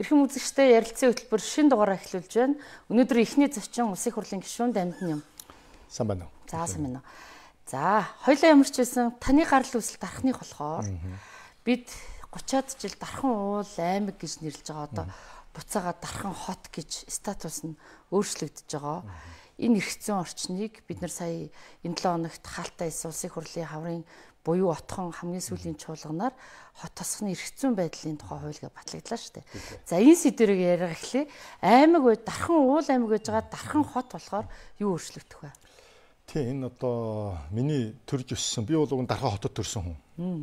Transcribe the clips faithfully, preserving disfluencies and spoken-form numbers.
Эрхэм үзэгчтэй ярилцсан хөтөлбөр шин дугаараа эхлүүлж байна. Өнөөдөр эхний зочин Улсын их хурлын гишүүн Дамжин юм. Сайн байна уу? За сайн байна уу. За, хоёулаа ямар ч байсан таны гарал үүсэл дарахных болохоор бид гучаад жил Дархан уул аймаг гэж нэрлэж байгаа одоо буцаага Дархан хот гэж статус нь өөрчлөгдөж байгаа. Энэ эрхцэн орчныг бид нар сая энэ долоо хоногт хаалттай Улсын их хурлын хаврын буюу отхон хамгийн сүүлийн чуулганаар хот тосхны эрхцэн байдлын тухай хуулийг батлагдлаа шүү дээ. За энэ сэдвэрийг яриа эхлэе. Аймаг бай Дархан уул аймаг байж байгаа Дархан хот болохоор юу өөрчлөгдөх вэ? Тий, энэ одоо миний төрж өссөн. Би бол уг нь Дархан хотод төрсэн хүн.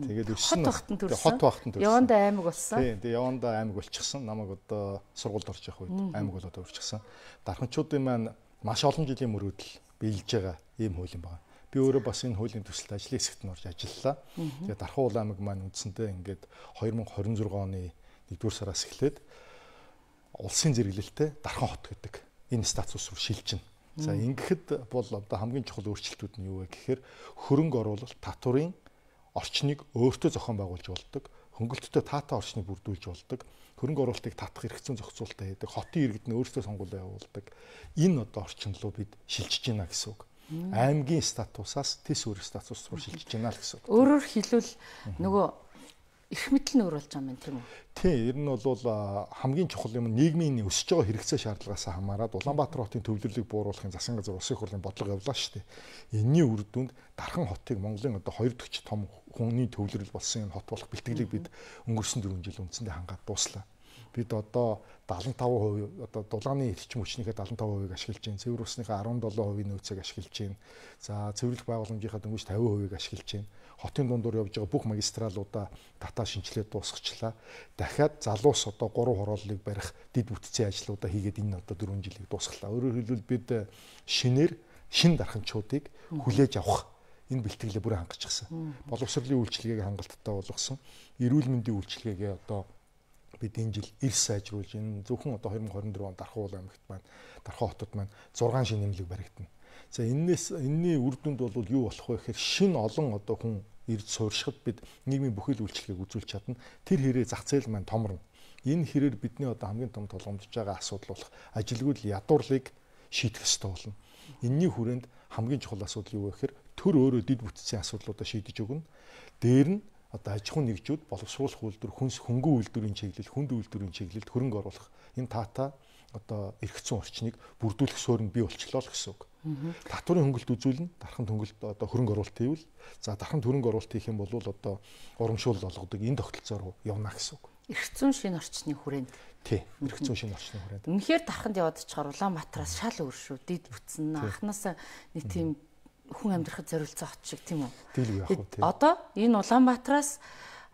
Тэгээд өссөн хот багтан төрсэн. Яванда аймаг болсон. Тий, тэгээд яванда аймаг болчихсон. Намайг одоо сургуульд орж явах үед аймаг болоод өөрчлөсөн. Дарханчуудын маань маш олон жилийн мөрөөдөл биелж байгаа ийм хууль юм байна. Би өөрөө бас энэ хуулийн төсөлд ажлын хэсэгт нь орж ажиллалаа. Тэгээд Дархан уул аймаг маань үндсэндээ ингээд две тысячи двадцать шесть оны нэгдүгээр сараас эхлээд улсын зэрэглэлтэй Дархан хот гэдэг энэ статус руу шилжинэ. За ингэхэд бол одоо хамгийн чухал өөрчлөлтүүд нь юу вэ гэхээр хөрөнгө оруулалт татварын орчныг өөртөө зохион байгуулж болдог, хөнгөлөлтөд таатай орчныг бүрдүүлж болдог, хөрөнгө оруулалтыг татах хэрэгцээ зохицуулалтаа хийдэг, хотын иргэд нь өөрсдөө сонгуулиа явуулдаг. Энэ одоо орчин руу бид шилжиж байна гэсэн үг. Аймгийн статусаас тис өөр статус руу шилжиж байна л гэсэн үг. Өөрөөр хэлбэл нөгөө эрх мэдэл нь өөр болж байгаа юм тийм үү? Тий, ер нь бол хамгийн чухал юм нийгмийн өсөж байгаа хэрэгцээ шаардлагаас хамаарат Улаанбаатар хотын төвлөрлийг бууруулахын засгийн газар Улсын их хурлын бодлого явуулаа шүү дээ. Энийний үр дүнд Дархан хотыг Монголын одоо хоёр дахь том хүний төвлөрөл болсон энэ хот болох бэлтгэлийг бид өнгөрсөн дөрвөн жил үндсэндээ хангаад дууслаа. Бид одоо seventy-five percent одоо дулааны эрчим хүчнийхээ seventy-five percent ашиглаж байна. Цэвэр усныхаа seventeen percent нөөцийг ашиглаж байна. За цэвэрлэх байгууламжийнхаа дөнгөж fifty percent ашиглаж байна. Хотын дундуур явж байгаа бүх магистралуудаа дата шинжилээд дуусгачлаа. Дахиад залуус одоо гурван хорооллыг барих дэд бүтцийн ажлуудаа хийгээд энэ одоо дөрвөн жилийг дуусгалаа. Өөрөөр хэлбэл бид шинээр шин дарханчуудыг хүлээж авах энэ бэлтгэлээ бүрэн хангацчихсан. Боловсролын үйлчилгээг хангалттай болгосон. Эрүүл мэндийн үйлчилгээгээ одоо бид энэ жил эрс сайжруулж энэ зөвхөн одоо twenty twenty-four онд Дархан уул аймагт маань Дархан хотод маань six шин нэмлэг баригдана. За энэс энэний үр дүнд бол юу болох вэ гэхээр шин олон одоо хүн ирж сууршихад бид нийгмийн бүхэл үйлчлэгийг үзүүлж чадна. Тэр хэрэг зах зээл маань томорно. Энэ хэрээр бидний одоо хамгийн том тулгамдж байгаа асуудал болох ажилгүйд ядуурлыг шийдэх ёстой болно. Энэний хүрээнд хамгийн чухал асуудал юу вэ гэхээр төр өөрөө дэд бүтцийн асуудлуудаа шийдэж өгнө. Дээр нь одоо аж ахуйн нэгжүүд боловсруулах үйлдвэр, хүнс хөнгөн үйлдвэрийн чиглэл, хүнд үйлдвэрийн чиглэлд хөрөнгө оруулах энэ таата одоо эрхцэн орчныг бүрдүүлэх суурь нь бий болчихлоо л гэсэн үг. Татварын хөнгөлт үзүүлнэ, дархан хөнгөлт одоо хөрөнгө оруулалт хийвэл, за дархан хөрөнгө оруулалт хийх юм бол одоо урамшуул олгодог энэ тогтолцоо руу явна гэсэн үг. Эрхцэн шин орчны хүрээнд. Тий, эрхцэн шин орчны хүрээнд. Үнэхээр дарханд яваад чаар Улаанбаатараас шал өөр шүү. Дид бүтсэн анханасаа нэг тийм хүн амьдрахад зориулсан хот шиг тийм үү? Дийлгүй яах вэ? Одоо энэ Улаанбаатараас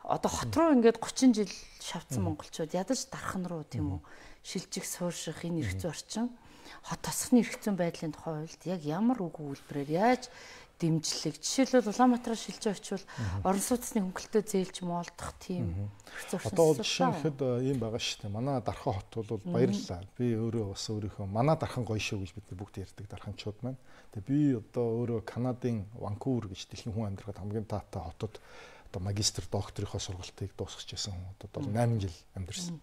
одоо хот руу ингээд thirty жил шавцсан монголчууд ядаж Дархан руу тийм үү шилжих суурших энэ эрх зүйн орчин хот тосхны эрх зүйн байдлын тухай хуульд яг ямар үг үйлбэрээр яаж дэмжлэг жишээлбэл Улаанбаатараас шилжиж очивол орон сууцны хөнгөлөлтөө зээлж моолдох тийм эрх зүйн орчин. Одоо жишээхэд ийм байгаа шүү дээ. Манай Дархан хот бол баярлалаа. Би өөрөө бас өөрийнхөө манай Дархан гоё шүү гэж бид бүгд ярьдаг дарханчууд маань. Тэгээ би одоо өөрөө Канадын Ванкувер гэж дэлхийн хүн амьдрахад хамгийн таатай хотод одоо магистр докторийнхоо сургалтыг дуусгаж байсан хүн. Одоо eight жил амьдэрсэн.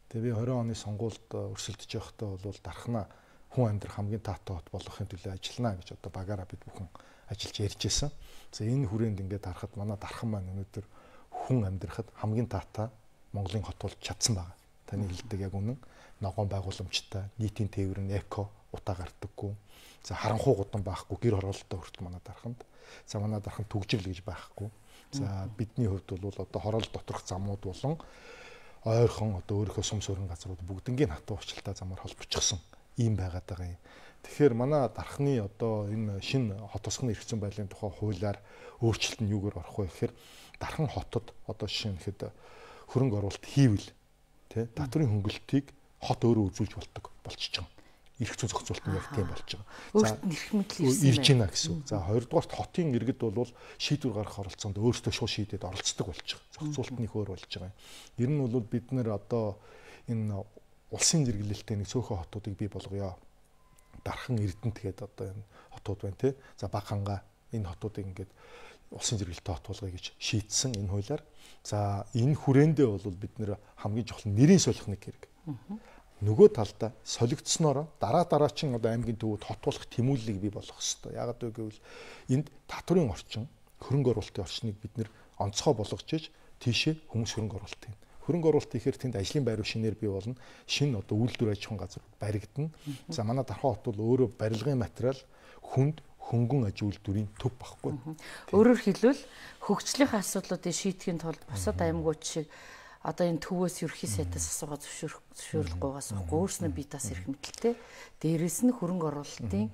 Тэгээ би twenty оны сонгуульд өрсөлдөж явахдаа бол Дарханаа хүн амьдрах хамгийн таатай хот болгохын төлөө ажиллана гэж одоо багаараа бид бүхэн ажиллаж ярьж байсан. За энэ хүрээнд ингээд харахад манай Дархан маань өнөөдөр хүн амьдрахад хамгийн таатай Монголын хот болж чадсан байгаа. Таны хэлдэг яг үнэн. Ногоон байгууламжтай, нийтийн тээвэр нь эко, утаа гардаггүй. За харанхуй гудан байхгүй, гэр хороололтой хүртэл манай Дарханд. За манай Дархан түгжирл гэж байхгүй. За бидний хувьд бол одоо хороол доторх замууд болон ойрхон одоо өөрийнхөө сум суурин газрууд бүгднгийн хатуу уучлалтай замаар холбогдчихсон ийм байгаад байгаа юм. Тэгэхээр манай Дарханы одоо энэ шинэ хот тосхны эрх зүйн байдлын тухай хуулиар өөрчлөлт нь юугаар орох вэ гэхээр Дархан хотод одоо жишээнхэд хөрөнгө оруулалт хийвэл тий татварын хөнгөлөлтийг хот өөрөө үзүүлж болдог болчихж байгаа. Эрх зүйн зохицуулалт нь яг тийм болж байгаа. За эрх мэдэл ирж байна гэсэн үг. За хоёрдугаарт хотын иргэд бол шийдвэр гаргах оролцоонд өөрсдөө шууд шийдээд оролцдог болж байгаа. Зохицуулалт нь их өөр болж байгаа. Ер нь бол бид нэр одоо энэ улсын зэрэглэлтэй нэг цөөхөн хотуудыг бий болгоё. Дархан Эрдэнэт гэдэг одоо энэ хотууд байна тий. За Багханга энэ хотуудыг ингээд улсын зэрэглэлтэй хот болгоё гэж шийдсэн энэ хуулиар. За энэ хүрээндээ бол бид нэр хамгийн чухал нэрийн солих нэг хэрэг. Нөгөө талдаа солигдсноор дараа дараачин одоо аймгийн төвөд хот болох тэмүүллийг бий болгох хэрэгтэй. Яагаад вэ гэвэл энд татврын орчин, хөрөнгө оруулалтын орчныг бид нэр онцгой болгож иж тийшээ хүмүүс хөрөнгө оруулалт юм. Хөрөнгө оруулалт ихээр тэнд ажлын байр шинээр бий болно. Шинэ одоо үйлдвэр аж ахуйн газар баригдана. За манай Дархан хот бол өөрөө барилгын материал, хүнд, хөнгөн аж үйлдвэрийн төв багхгүй. Өөрөөр хэлбэл хөгжлийнхаа асуудлуудыг шийдэхин тулд бусад аймагуд шиг одоо энэ төвөөс ерхий сайдаас асуугаад зөвшөөрөхгүйгээс ахгүй өөрснөө бие тас эрх мэдэлтэй. Дээрээс нь хөрөнгө оруулалтын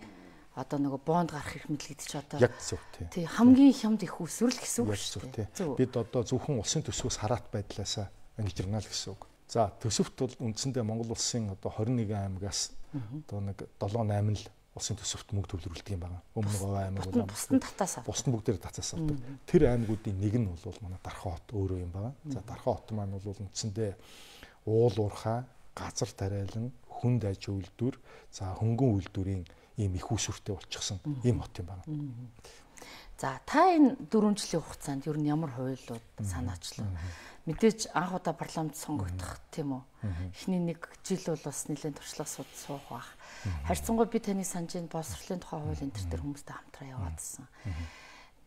одоо нөгөө бонд гарах эрх мэдэл гэдэг чи одоо яг зөв тий хамгийн хямд их усвэрл гэсэн үг шүү дээ. Бид одоо зөвхөн улсын төсвөөс хараат байдлаасаа ингэж ирнэ л гэсэн үг. За төсөвт бол үндсэндээ Монгол улсын одоо хорин нэгэн аймагаас одоо нэг долоо найман л улсын төсөвт мөнгө төвлөрүүлдэг юм байна. Өмнө говь аймаг бол бусдын татаас авдаг. Бусдын бүгдээр татаас авдаг. Тэр аймагуудын нэг нь бол манай Дархан хот өөрөө юм байна. За Дархан хот маань бол үндсэндээ уул уурхай, газар тариалан, хүнд аж үйлдвэр, за хөнгөн үйлдвэрийн ийм их усүртэй болчихсон ийм хот юм байна. За та энэ дөрвөн жилийн хугацаанд ер нь ямар хуулиуд санаачлаа? Мэдээж анх удаа парламент сонгогдох тийм үү? Эхний нэг жил бол бас нэлээд туршлага суух бах. Харьцангуй би таны санаж энэ боловсролын тухай хууль энэ төр хүмүүстэй хамтраа яваадсан.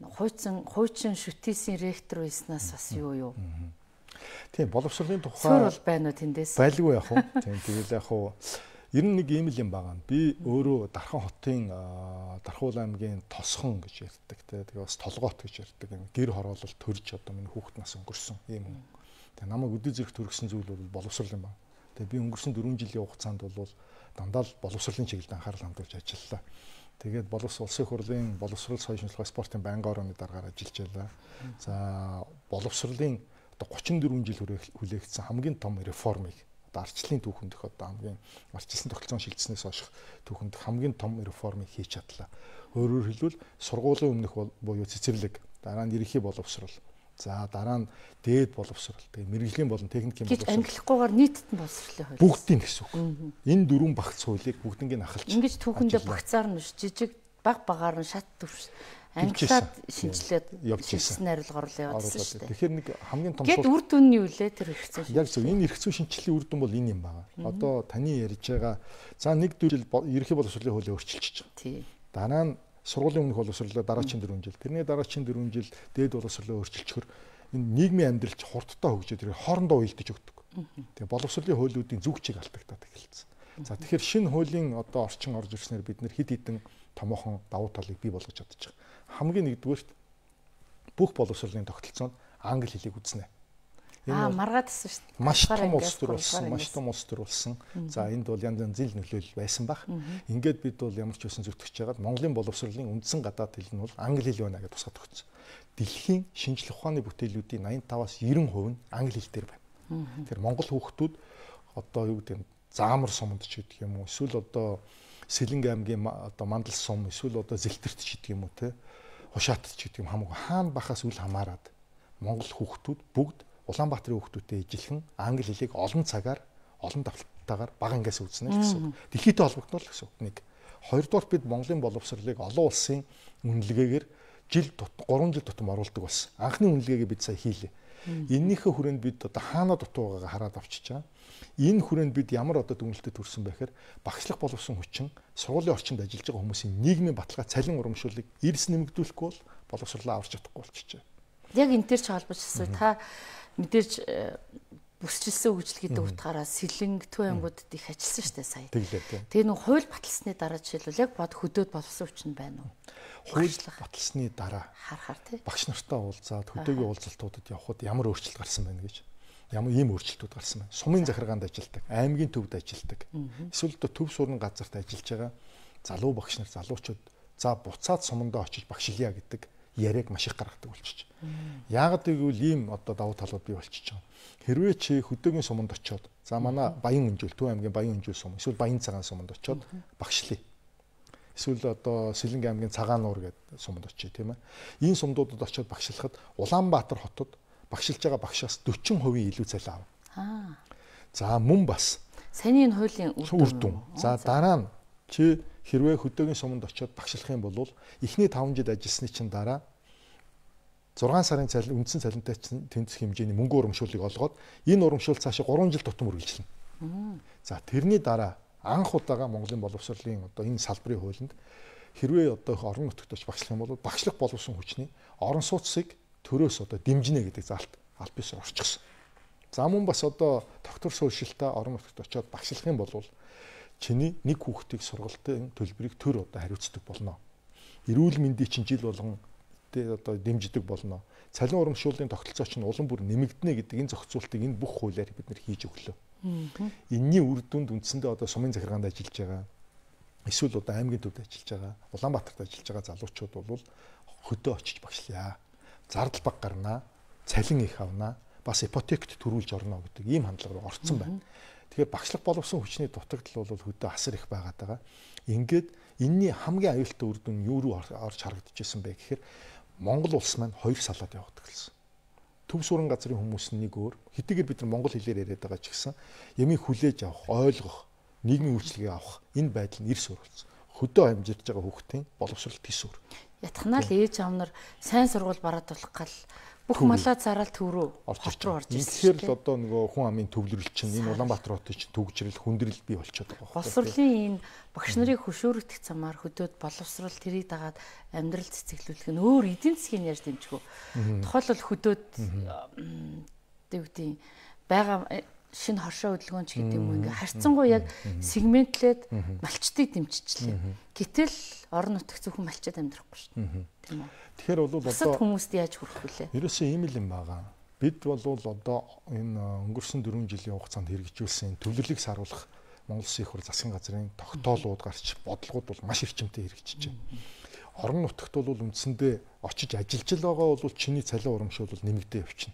Хуучин хуучин шүтээсийн ректор байснаас бас юу юу? Тийм боловсролын тухай суурь бол байна уу тэндээс? Байлгүй яг уу. Тийм тэгэл яг уу ер нь нэг ийм л юм байгаа. Би өөрөө Дархан хотын Дархуул аймгийн Тосхон гэж ярьдаг те. Тэгээ бас Толгоот гэж ярьдаг. Гэр хороолол төрж одоо миний хүүхэд нас өнгөрсөн ийм хүн. Тэгээ намайг өдөө зэрэг төргсөн зүйл бол боловсрол юм байна. Тэгээ би өнгөрсөн дөрвөн жилийн хугацаанд бол дандаа л боловсролын чиглэлд анхаарал хандуулж ажиллалаа. Тэгээд боловсрол улсын хурлын боловсрол соёлын шинжилгээ спортын байнгын орооны дараагаар ажиллаж байлаа. За боловсролын одоо гучин дөрвөн жил хүлээгдсэн хамгийн том реформыг одоо арчлалын түүхэндх одоо хамгийн арчилсан тогтолцоон шилжснээс хойш түүхэнд хамгийн том реформыг хийж чадлаа. Өөрөөр хэлбэл сургуулийн өмнөх буюу цэцэрлэг, дараа нь ерөнхий боловсрол, за дараа нь дээд боловсрол, тэгээ мэрэгжлийн болон техникийн боловсрол. Англихгүйгээр нийтэд нь боловсролын хууль. Бүгдийн гэсэн үг. Энэ дөрвөн багц хуулийг бүгднийг ахалж. Ингэж түүхэндээ багцаар нь жижиг баг багаар нь шат төвш англиад шинжилээд шинжилсэн найруулга оруулаад явуулсан шүү дээ. Тэгэхээр нэг хамгийн том сул. Гэт үр дүн нь юу лээ тэр эрх зүйн? Яг зөв энэ эрх зүйн шинжилгээний үр дүн бол энэ юм байна. Одоо таны ярьж байгаа за нэг дөрвөн жил ерөнхий боловсролын хуулийг өөрчилчихэж байгаа. Тий. Дараа нь сургуулийн өмнөх боловсролоо дараагийн дөрвөн жил. Тэрний дараагийн дөрвөн жил дээд боловсролоо өөрчилчихөр энэ нийгмийн амьдралч хурдтай хөгжөөд ирээ хоорондоо уялдаж өгдөг. Тэгээ боловсролын хуулиудын зүгчийг алдагдаад эхэлсэн. За тэгэхээр шинэ хуулийн одоо орчин орж ирснээр бид нэр хэд хэдэн томоохон давуу талыг бий болгож чадчих. Хамгийн нэгдүгээрт бүх боловсролын тогтолцоонд англи хэлийг үзнэ. Аа маргаадсэн шүү дээ. Маш том улс төр болсон, маш том улс төр болсон. За энд бол янз янз зил нөлөөлөл байсан баг. Ингээд бид бол ямар ч байсан зүтгэж байгаад Монголын боловсролын үндсэн гадаад хэл нь бол англи хэл байна гэж тусгад өгсөн. Дэлхийн шинжлэх ухааны бүтээлүүдийн восемьдесят таваас девяносто хувь нь англи хэл дээр байна. Тэр Монгол хүүхдүүд одоо юу гэдэг нь заамар суманд ч гэдэг юм уу, эсвэл одоо Сэлэнг аймгийн одоо Мандал сум, эсвэл одоо Зэлтэрт ч гэдэг юм уу те, Хушаатт ч гэдэг юм хамаагүй хаана бахаас үл хамааран Монгол хүүхдүүд бүгд Улаанбаатарын хүүхдүүдтэй ижилхэн англи хэлийг олон цагаар, олон давталтайгаар бага ангиас үзнэ гэсэн. Дэлхийдээ холбогдно л гэсэн. Нэг. Хоёрдугаар бид Монголын боловсролыг олон улсын үнэлгээгээр жил тутам гурван жил тутам оруулдаг болсон. Анхны үнэлгээгээ бид сая хийлээ. Эннийхээ хүрээнд бид одоо хаана дутуу байгаагаа хараад авчиж байгаа. Энэ хүрээнд бид ямар одоо дүгнэлтэд хүрсэн байхээр багшлах боловсон хүчин сургуулийн орчинд ажиллаж байгаа хүмүүсийн нийгмийн баталгаа цалин урамшууллыг эрс нэмэгдүүлэхгүй бол боловсруулаа аварч чадахгүй болчихжээ. Яг энэ төр ч холбож асуу та мэдээж бүсчилсэн хөгжил гэдэг утгаараа Сэлэнг төв аймагуудад их ажилласан шүү дээ сая. Тэгээ нэг хууль баталсны дараа жишээлбэл яг бод хөдөөд боловсон хүчин байна уу? Хууль баталсны дараа харахаар тий. Багш нартай уулзаад хөдөөгийн уулзалтуудад явхад ямар өөрчлөлт гарсан байна гэж. Ямар ийм өөрчлөлтүүд гарсан байна. Сумын захиргаанд ажилладаг, аймгийн төвд ажилладаг. Эсвэл одоо төв суурин газарт ажиллаж байгаа залуу багш нар, залуучууд за буцаад сумандаа очиж багшлая гэдэг яриаг маш их гаргадаг болчих. Яагаад гэвэл ийм одоо давуу талууд бий болчих жоо. Хэрвээ чи хөдөөгийн суманд очиод за манай Баян Өнжил, Төв аймгийн Баян Өнжил сум, эсвэл Баян цагаан суманд очиод багшлая. Эсвэл одоо Сэлэнг аймгийн Цагаан нуур гэдэг суманд очие тийм ээ. Энэ сумдуудад очиод багшлахад Улаанбаатар хотод багшилж байгаа багшаас forty percent илүү цалин авна. Аа. За мөн бас саний энэ хуулийн үр дүн. За дараа нь чи хэрвээ хөдөөгийн суманд очиод багшлах юм бол эхний таван жил ажилласны чинь дараа зургаан сарын цалин үндсэн цалинтай тэнцэх хэмжээний мөнгө урамшууллыг олгоод энэ урамшуул цаашаа гурван жил тутам үргэлжлэнэ. За тэрний дараа анх удаага Монголын боловсролын одоо энэ салбарын хуулинд хэрвээ одоо орон нутагт очиж багшлах юм бол багшлах боловсон хүчний орон сууцыг төрөөс одоо дэмжинэ гэдэг заалт аль бисаар орчихсон. За мөн бас одоо доктор сууршилтаа орон нутагт очиод багшлах юм бол чиний нэг хүүхдийг сургалтын төлбөрийг төр одоо хариуцдаг болно. Эрүүл мэндийн чинь жил болгон одоо дэмждэг болно. Цалин урамшууллын тогтолцоо чинь улам бүр нэмэгдэнэ гэдэг энэ зохицуултыг энэ бүх хуулиар бид нэр хийж өглөө. Энийний үр дүнд үндсэндээ одоо сумын захиргаанд ажиллаж байгаа, эсвэл одоо аймгийн төвд ажиллаж байгаа, Улаанбаатарт ажиллаж байгаа залуучууд бол хөдөө очиж багшлая. Зардал баг гарнаа, цалин их авнаа, бас ипотект төрүүлж орно гэдэг ийм хандлага руу орцсон байна. Тэгэхээр багшлах боловсон хүчний дутагдал бол хөдөө асар их байгаад байгаа. Ингээд энэний хамгийн аюултай үр дүн юу руу орж харагдчихсан бэ гэхээр Монгол улс маань хоёр салаад явагддаг гэсэн. Төв суран газрын хүмүүс нэг өөр, хэдийгээр бид нар монгол хэлээр яриад байгаа ч гэсэн ямиг хүлээж авах, ойлгох, нийгмийн үйлчлэгийг авах энэ байдал нь эрс өөрчлөсөн. Хөдөө амжирч байгаа хүүхдийн боловсролт тис өөр. Ятхнаа л ээж аав нар сайн сургууль бараад болох гал бүх малаа зараад төв рүү орж руу орж ирсэн. Тэгэхээр л одоо нөгөө хүн амын төвлөрөл чинь энэ Улаанбаатар хотын чинь төгжрөл, хүндрэл бий болчиход байгаа. Боловсролын энэ багш нарыг хөшөөрөгдөх замаар хөдөөд боловсрол тэрийг дагаад амьдрал цэцэглүүлэх нь өөр эдийн засгийн яаж дэмжих вэ? Тухайлбал хөдөөд дэвдийн байгаа шинэ хоршоо хөдөлгөөнч гэдэг юм ингээ харьцангуй яг сегментлээд малчтыг дэмжижлээ. Гэтэл орон нутагт зөвхөн малчид амьдрахгүй шүү дээ. Тийм үү? Тэгэхээр бол одоо хүмүүст яаж хүрэх вүлээ? Ерөөсөө ийм л юм байгаа. Бид бол одоо энэ өнгөрсөн дөрвөн жилийн хугацаанд хэрэгжүүлсэн төвлөрлийг саруулах Монгол Улсын их хурл засгийн газрын тогтоолууд гарч бодлогууд бол маш эрчимтэй хэрэгжиж байна. Орон нутагт бол үндсэндээ очиж ажиллаж байгаа бол чиний цалин урамшуул нэмэгдээ явчихна.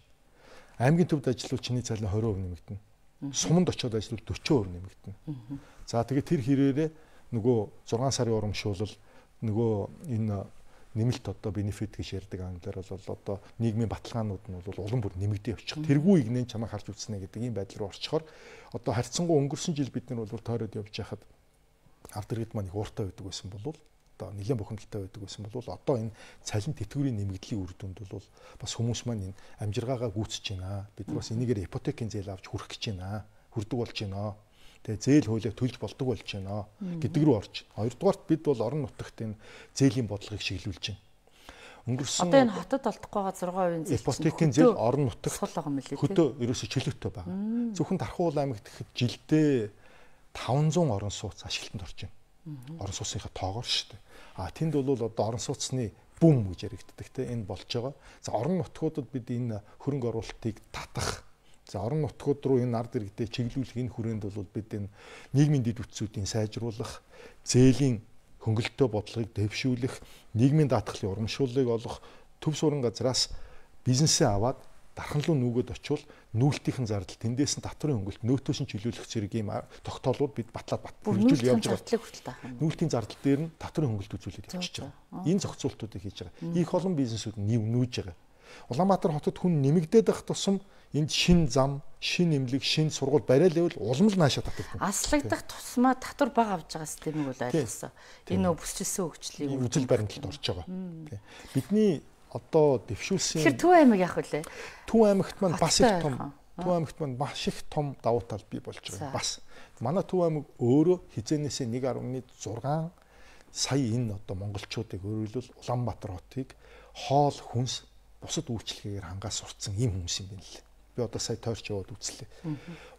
Аймгийн төвд ажиллавал чиний цалин двадцать процент нэмэгдэнэ. Суманд очиод ажиллавал forty percent нэмэгдэнэ. За тэгээд тэр хэрээрээ нөгөө зургаан сарын урамшуулал нөгөө энэ нэмэлт одоо бенефит гэж ярьдаг англиар бол одоо нийгмийн баталгаанууд нь бол улам бүр нэмэгдээ явчих. Тэргүй игнэн чамайг харж үзснэ гэдэг ийм байдал руу орчхоор одоо харьцангуй өнгөрсөн жил бид нар бол тойроод явж байхад ард иргэд маань их ууртай байдаг байсан бол одоо нэлээд бухимдалтай байдаг байсан бол одоо энэ цалин тэтгэврийн нэмэгдлийн үр дүнд бол бас хүмүүс маань энэ амжиргаагаа гүйцэж байна. Бид бас энийгээр ипотекийн зээл авч хүрэх гэж байна. Хүрдэг болж байна. Тэгээ зээл хуулийг төлж болдог болж байна гэдэг рүү орж. Хоёрдугаарт бид бол орон нутагт энэ зээлийн бодлогыг шиглүүлж байна. Өнгөрсөн одоо энэ хотод олдохгүй байгаа зургаан хувийн зээл ипотекийн зээл орон нутагт сул байгаа мөлий. Хөдөө ерөөсө чөлөөтэй байгаа. Зөвхөн Тархуул аймагт гэхэд жилдээ five hundred орон сууц ашиглалтанд орж байна. Орон сууцынхаа тоогоор шүү дээ. А тэнд бол одоо орон сууцны бум гэж яригддаг те энэ болж байгаа. За орон нутгуудад бид энэ хөрөнгө оруулалтыг татах. За орон нутгууд руу энэ ард иргэдэд чиглүүлэх энэ хүрээнд бол бид энэ нийгмийн дэд үтсүүдийн сайжруулах, зээлийн хөнгөлөлтөө бодлогыг дэвшүүлэх, нийгмийн даатгалын урамшууллыг олох, төв суран газраас бизнесээ аваад дархан руу нүгэд очивол нүүлтийн зардал тэндээс нь татварын хөнгөлөлт нөөтөөс нь чөлөөлөх зэрэг ийм тогтоолууд бид батлаад батлуулж явж байгаа. Нүүлтийн зардал дээр нь татварын хөнгөлөлт үзүүлээд явчихж байгаа. Энэ зохицуултуудыг хийж байгаа. Их олон бизнесүүд нь нүүж байгаа. Улаанбаатар хотод хүн нэмэгдээд байх тусам энд шин зам, шин эмнэлэг, шин сургууль бариад байвал улам л наашаа татдаг. Аслагдах тусмаа татвар бага авж байгаа системийг бол ойлгосон. Энэ нөө бүсчилсэн хөгжлийг үзэл баримталд орж байгаа. Бидний одоо дэвшүүлсэн. Тэгэхээр Төв аймаг яах вүлээ? Төв аймагт маань бас их том, Төв аймагт маань маш их том давуу тал бий болж байгаа. Бас манай Төв аймаг өөрөө хизээнээсээ one point six сая энэ одоо монголчуудыг өөрөлдөл Улаанбаатар хотыг хоол хүнс бусад үйлчлэгээр хангаж сурцсан ийм хүмүүс юм байна лээ. Би одоо сая тойрч яваад үзлээ.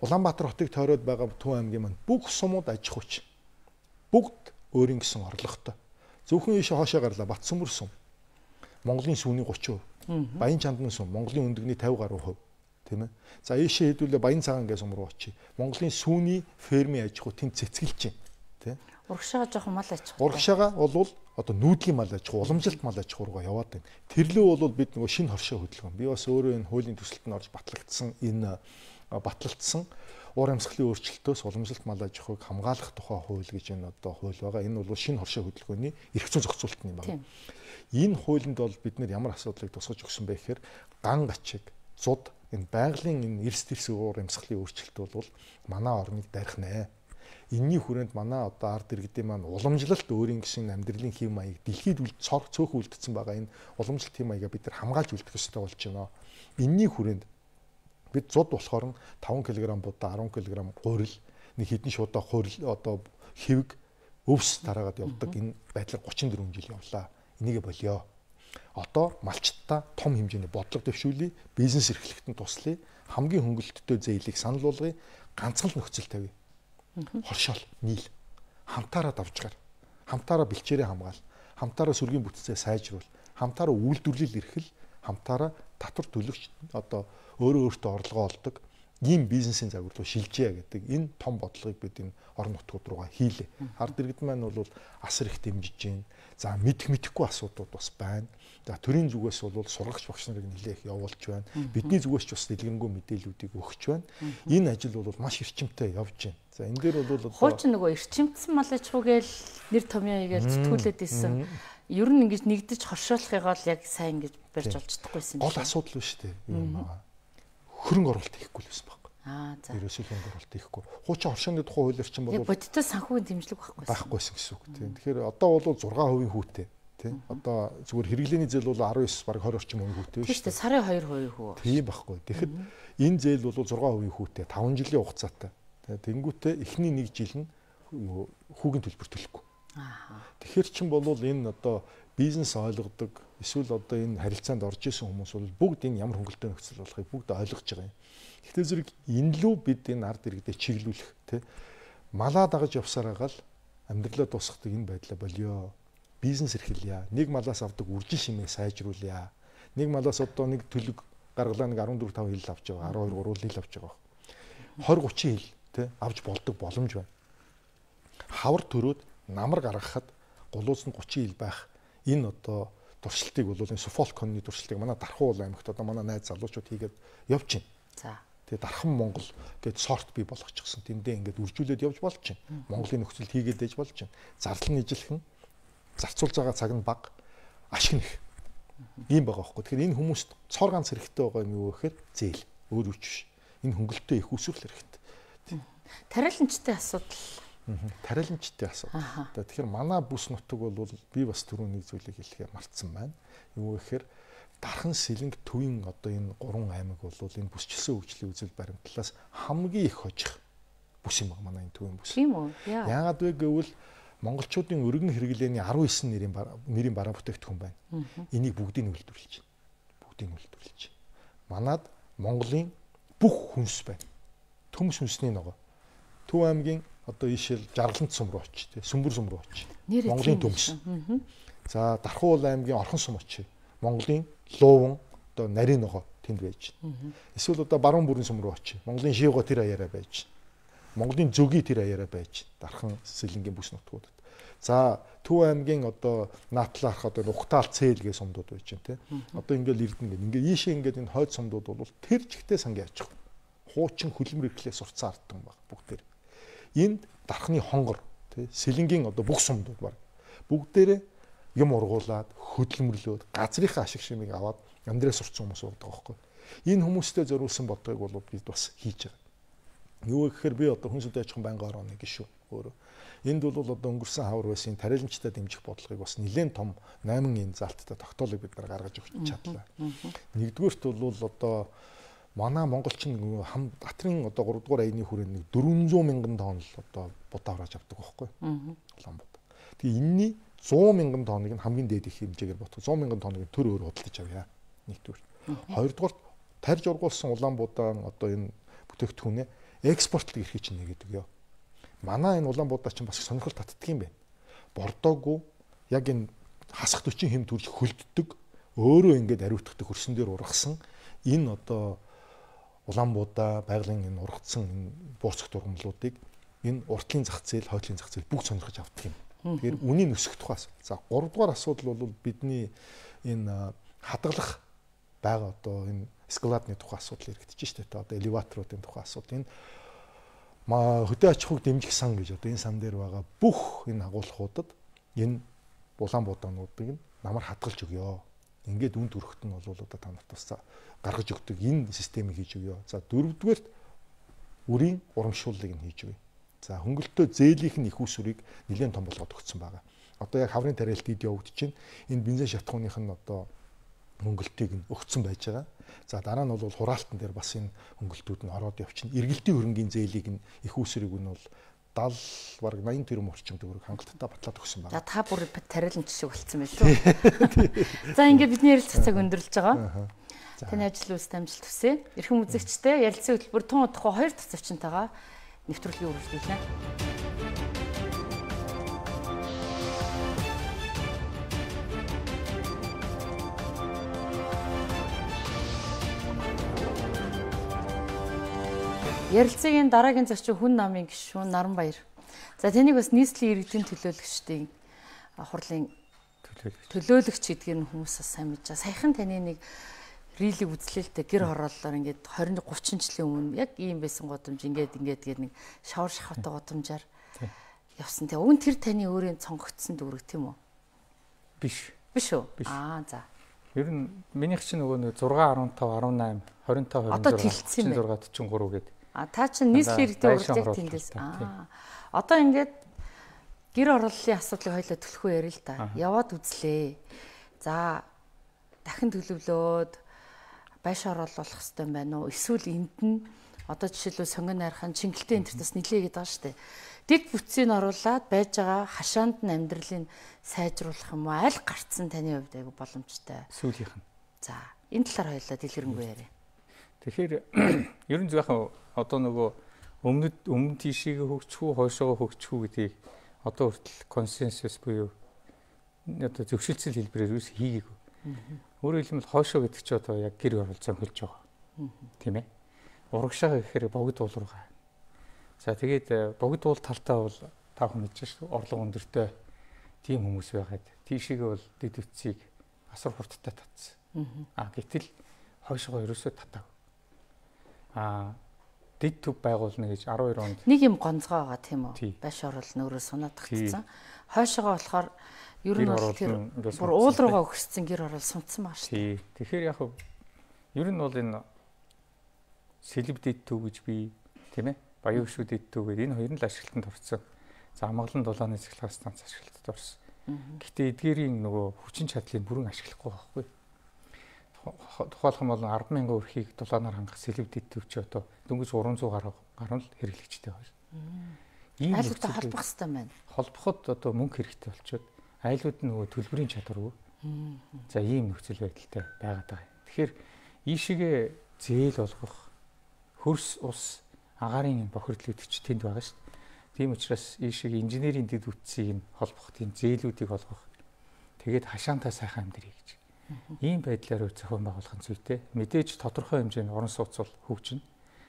Улаанбаатар хотыг тойроод байгаа Төв аймгийн маань бүх сумууд аж ахуйч. Бүгд өөрийн гэсэн орлоготой. Зөвхөн ийшээ хоошоо гарлаа Батсүмбэр сум. Монголын сүүний thirty percent. Баян чандны сум Монголын өндөгний fifty гаруй хувь. Тийм ээ. За ийшээ хэдүүлээ Баян цагаан гэсэн сум руу очие. Монголын сүүний фермийн аж ахуй тэнд цэцгэлж байна. Тийм. Урагшаага жоохон мал аж ахуй. Урагшаага бол одоо нүүдлийн мал аж ахуй, уламжилт мал аж ахуй руу яваад байна. Тэрлөө бол бид нөгөө шинэ хоршоо хөдөлгөөн. Би бас өөрөө энэ хуулийн төсөлтөнд орж батлагдсан энэ батлагдсан уур амьсгалын өөрчлөлтөөс уламжилт мал аж ахуйг хамгаалах тухай хууль гэж энэ одоо хууль байгаа. Энэ бол шинэ хоршоо хөдөлгөөний эрх зүйн зохицуулалт юм байна. Энэ хуулинд бол бид нэр ямар асуудлыг тусгаж өгсөн бэ гэхээр ган гачиг, зуд энэ байгалийн энэ эрс дэрс уур амьсгалын өөрчлөлт бол манай орныг дарих нэ. Энийний хүрээнд манай одоо ард иргэдийн маань уламжлалт өөрийн гэсэн амьдралын хэв маяг дэлхийд цор цөөхөн үлдсэн байгаа энэ уламжлалт хэв маягаа бид нар хамгаалж үлдэх ёстой болж байна. Энийний хүрээнд Бид зуд болохоор таван килограмм будаа арван килограмм гурил нэг хэдэн шуудаа хурил одоо хэвэг өвс тараагаад явдаг энэ байдлаар гучин дөрвөн жил явлаа. Энийг болио. Одоо малчтаа том хэмжээний бодлого дэвшүүлье, бизнес эрхлэхэд нь туслая, хамгийн хөнгөлөлттэй зээлийг санал болгоё, ганцхан л нөхцөл тавья. Хоршоол, нийл. Хамтаараа давжгаар, хамтаараа бэлчээрээ хамгаал, хамтаараа сүргийн бүтцээ сайжруул, хамтаараа үйлдвэрлэл эрхэл, хамтаараа татвар төлөгч одоо өөрөө өөртөө орлогоо олдог ийм бизнесийн загвар руу шилжээ гэдэг энэ том бодлогыг бид энэ орон нутгууд руугаа хийлээ. Ард иргэд маань бол асар их дэмжиж байна. За мэдх мэдэхгүй асуудууд бас байна. За төрийн зүгээс бол сургагч багш нарыг нэлээх явуулж байна. Бидний зүгээс ч бас дэлгэрэнгүй мэдээллүүдийг өгч байна. Энэ ажил бол маш эрчимтэй явж байна. За энэ дээр бол одоо хуучин нөгөө эрчимтсэн мал аж ахуйгээл нэр томьёо хийгээл зэтгүүлээд исэн. Ер нь ингэж нэгдэж хоршоолохыг бол яг сайн ингэж барьж олж чадахгүйсэн. Гол асуудал биш үү? Юм аа. Хөрөнгө оруулалт хийхгүй л байсан байхгүй. Аа за. Ерөөсөө хөрөнгө оруулалт хийхгүй. Хуучин оршооны тухай хуулиар чинь бол яг бодиттой санхүүгийн дэмжлэг байхгүй. Байхгүйсэн гэсэн үг тийм. Тэгэхээр одоо бол зургаан хувийн хүүтэй тийм. Одоо зүгээр хэрэглээний зээл бол арван девять бараг двадцать орчим хувийн хүүтэй шүү дээ. Сарын хоёр хувийн хүү. Тийм байхгүй. Тэгэхэд энэ зээл бол зургаан хувийн хүүтэй таван жилийн хугацаатай. Тэнгүүтээ эхний нэг жил нь хүүгийн төлбөр төлөхгүй. Аа. Тэгэхээр чин бол энэ одоо бизнес ойлгодог эсвэл одоо энэ харилцаанд орж исэн хүмүүс бол бүгд энэ ямар хөнгөлтэй нөхцөл болохыг бүгд ойлгож байгаа юм. Гэхдээ зэрэг энэ лүү бид энэ ард иргэдэд чиглүүлэх тий малаа дагаж явсаар агаал амьдралаа дуусгадаг энэ байдлаа болио. Бизнес эрхэлье. Нэг малаас авдаг үржил шимээ сайжруулъя. Нэг малаас одоо нэг төлөг гаргалаа нэг арван дөрөв тав хил авч байгаа. арван хоёр гурван хил авч байгаа. двадцать тридцать хил тий авч болдог боломж байна. Хавар төрөөд намар гаргахад гулууц нь тридцать хил байх энэ одоо туршилтыг бол энэ Суфолконы туршилтыг манай Дархан уул аймагт одоо манай найз залуучууд хийгээд явж байна. За. Тэгээ Дархан Монгол гэдэг сорт бий болгочихсон. Тэндээ ингээд үржүүлээд явж болж байна. Монголын нөхцөлд хийгээд ээж болж байна. Зардал нь ижилхэн, зарцуулж байгаа цаг нь бага, ашиг нэх. Ийм байгаа байхгүй. Тэгэхээр энэ хүмүүст цор ганц хэрэгтэй байгаа юм юу гэхээр зээл. Өөр үуч биш. Энэ хөнгөлөлтөө их усрал хэрэгтэй. Тариаланчтай асуудал. Тариаланчтай асуудал. Тэгэхээр манай бүс нутаг бол би бас түрүү нэг зүйлийг хэлэхээр мартсан байна. Юу гэхээр Дархан Сэлэнг төвийн одоо энэ гурван аймаг бол энэ бүсчилсэн хөгжлийн үзэл баримтлалаас хамгийн их хожих бүс юм байна манай энэ төвийн бүс. Тийм үү? Яагаад вэ гэвэл монголчуудын өргөн хэрэглээний арван девять нэрийн нэрийн бараа бүтээгдэхүүн байна. Энийг бүгдийг үйлдвэрлэж байна. Бүгдийг үйлдвэрлэж. Манад Монголын бүх хүнс байна. Төмс хүнсний ногоо. Төв аймгийн одоо ишэл Жаргалант сум руу очив, тий. Сүмбэр сум руу очив. Монголын төмс. За Дархан уул аймгийн Орхон сум очив. Монголын Лууван одоо нарийн ногоо тэнд байж байна. Эсвэл одоо Баруун бүрийн сум руу очив. Монголын Шивго тэр аяараа байж байна. Монголын Зөгийн тэр аяараа байж байна. Дархан Сэлэнгийн бүс нутгуудад. За Төв аймгийн одоо Наатлаарх одоо Ухтаал Цээл гэх сумдууд байж байна, тий. Одоо ингээл Эрдэнэ гэнэ. Ингээ ийшээ ингээд энэ хойд сумдууд бол тэр жигтэй сангийн аж ахуй. Хуучин хөлбөмбөр эрхлээ сурцсан ардтан баг бүгдээр. Энд Дарханы хонгор тий Сэлэнгийн одоо бүх сумдууд баг бүгдээрээ юм ургуулад хөдөлмөрлөөд газрынхаа ашиг шимийг аваад амьдраа сурцсан хүмүүс байдаг байхгүй. Энэ хүмүүстэй зориулсан бодлогыг бол бид бас хийж байгаа. Юу гэхээр би одоо хүн сүнтэй аж ахуйн байнгын орооны гишүү өөрөө. Энд бол одоо өнгөрсөн хавар байсын тариаланчтай дэмжих бодлогыг бас нэлээд том найман энэ залттай тогтоолыг бид нар гаргаж өгч чадлаа. Нэгдүгээрт бол одоо манай монголчин хам Батрын одоо гурав дугаар аяны хүрээнд нэг дөрвөн зуун мянган тонн л одоо будаа аваад авдаг байхгүй. Улаанбаатар. Тэгээ энэний сто мянган тонныг нь хамгийн дээд их хэмжээгээр ботго сто мянган тонныг төр өөр худалдаж авъя. Нэгдүгээр. Хоёрдугаар тарж ургуулсан Улаанбаатар одоо энэ бүтээгдэхүүнээ экспортлог эрхийг чинь нэгээд өгөө. Манай энэ Улаанбаатар чинь бас сонирхол татдаг юм байна. Бордоогүй яг энэ хасах төчийн хэм төрөл хөлддөг өөрөө ингээд ариутгадаг хөрсөн дээр ургасан энэ одоо Улаанбаатар байгалийн энэ ургацсан энэ буурцах дургамлуудыг энэ уртлын зах зээл, хойдлын зах зээл бүгд сонирхож авдаг юм. Тэгэхээр үнийн өсөх тухай асуудал. За гурав дугаар асуудал бол бидний энэ хадгалах байгаа одоо энэ эскалатны тухай асуудал яригдчих шүү дээ. Одоо элеваторуудын тухай асуудал. Энэ хөдөө аж ахуйг дэмжих сан гэж одоо энэ сан дээр байгаа бүх энэ агуулгуудад энэ Улаанбаатарнуудыг нь намар хадгалж өгөө. Ингээд үн төрөхт нь бол одоо та нарт бас гаргаж өгдөг энэ системийг хийж өгөө. За дөрөвдүгээрт үрийн урамшууллыг нь хийж өгье. За хөнгөлөлтөө зээлийн их усүрийг нэлээд том болгоод өгсөн байгаа. Одоо яг хаврын тариалт ид явагдаж байна. Энэ бензин шатхууных нь одоо хөнгөлөлтийг нь өгсөн байж байгаа. За дараа нь бол хураалтан дээр бас энэ хөнгөлтүүд нь ороод явчихна. Эргэлтийн хөрөнгийн зээлийг нь их үүсрэг нь бол даал бараг наян тэрбум орчим төгрөг хангалттай батлаад өгсөн байна. За та бүр тариалан жишг болцсон байх шүү. За ингээд бидний ярилцах цаг өндөрлөж байгаа. Таны ажил үйлс амжилт хүсье. Эрхэм үзэгчтэй ярилцсан хөтөлбөр тун удахгүй хоёр дахь зочинтойгоо нэвтрүүлгийг үргэлжлүүлнэ. Ярилцлагын дараагийн зочин хүн намын гишүүн Наранбаяр. За таныг бас нийслэлийн иргэдийн төлөөлөгчдийн хурлын төлөөлөгч гэдгийг хүмүүс бас сайн мэдж байгаа. Саяхан таны нэг рилийг үзлээ л дээ гэр хорооллоор ингээд двадцать тридцать жилийн өмнө яг ийм байсан годомж ингээд ингээд гээд нэг шавар шахавтай годомжаар явсан. Тэгээ уг нь тэр таны өөрийн цонгогдсон дүүрэг тийм үү? Биш. Биш үү? Аа за. Ер нь минийх чинь нөгөө нэг сix fifteen eighteen одоо тэлцсэн юм байна. six forty-three гээд. А та чинь нийслэлийн иргэдийн урлагийг тэндээс. Аа. Одоо ингээд гэр хорооллын асуудлыг хоёлоо төлөхөө ярил л та. Яваад үзлээ. За дахин төлөвлөөд байш оруулах хэрэгтэй байна уу? Эсвэл энд нь одоо жишээлбэл сонгон найрхан чингэлтэй энтертэс нилээгээд байгаа шүү дээ. Дэг бүтцийг оруулаад байж байгаа хашаанд нь амьдралыг сайжруулах юм уу? Аль гарцсан таны хувьд айгу боломжтой. Сүүлийнх нь. За энэ талаар хоёлаа дэлгэрэнгүй яриа. Тэгэхээр ер нь зөвхөн одоо нөгөө өмнөд өмнө тийшээ хөгжих үү, хойшоо хөгжих үү гэдгийг одоо хүртэл консенсус буюу одоо зөвшөлтсөл хэлбэрээр юус хийгээгүй. Өөрөөр хэлбэл хойшоо гэдэг чинь одоо яг гэр оролцоо хөлж байгаа. Тийм ээ. Урагшаа гэхээр богд уул руугаа. За тэгээд богд уул талтаа бол та хүн мэдж шүү. Орлого өндөртэй тийм хүмүүс байгаад тийшээгээ бол дэд үтцийг асар хурдтай татсан. А гэтэл хойшоо ерөөсөө татаагүй. А дэд төв байгуулна гэж twelve онд нэг юм гонцгой байгаа тийм үү? Байш оруулна өөрөө сунаад татсан. Хойшоогоо болохоор ер нь бол тэр бүр уул руугаа өгсөн гэр орол сунцсан байна шүү дээ. Тэгэхээр яг ер нь бол энэ сэлб дэд төв гэж би тийм ээ баян гүшүүд дэд төв гэдэг энэ хоёр нь л ашиглалтанд орсон. За амгалан дулааны цэглэх станц ашиглалтанд орсон. Гэтэ эдгээрийн нөгөө хүчин чадлыг бүрэн ашиглахгүй байхгүй. Тухайлх юм бол ten thousand өрхийг дулаанаар хангах сэлб дэд төв чи одоо дөнгөж three hundred гаруй гаруй л хэрэглэгчтэй байна. Ийм айлуудтай холбох хэрэгтэй байна. Холбоход одоо мөнгө хэрэгтэй болчиход айлууд нь нөгөө төлбөрийн чадваргүй. За ийм нөхцөл байдалтай байгаад байгаа. Тэгэхээр ийшээгээ зээл болгох хөрс ус агаарын бохирдлуудч тэнд байгаа шүү дээ. Тийм учраас ийшээгээ инженерийн дэд үтсийг нь холбох тийм зээлүүдийг олгох. Тэгээд хашаантаа сайхан амьдрий гэж. Ийм байдлаар зохион байгуулах нь зүйтэй. Мэдээж тодорхой хэмжээний орон сууц бол хөгжинэ.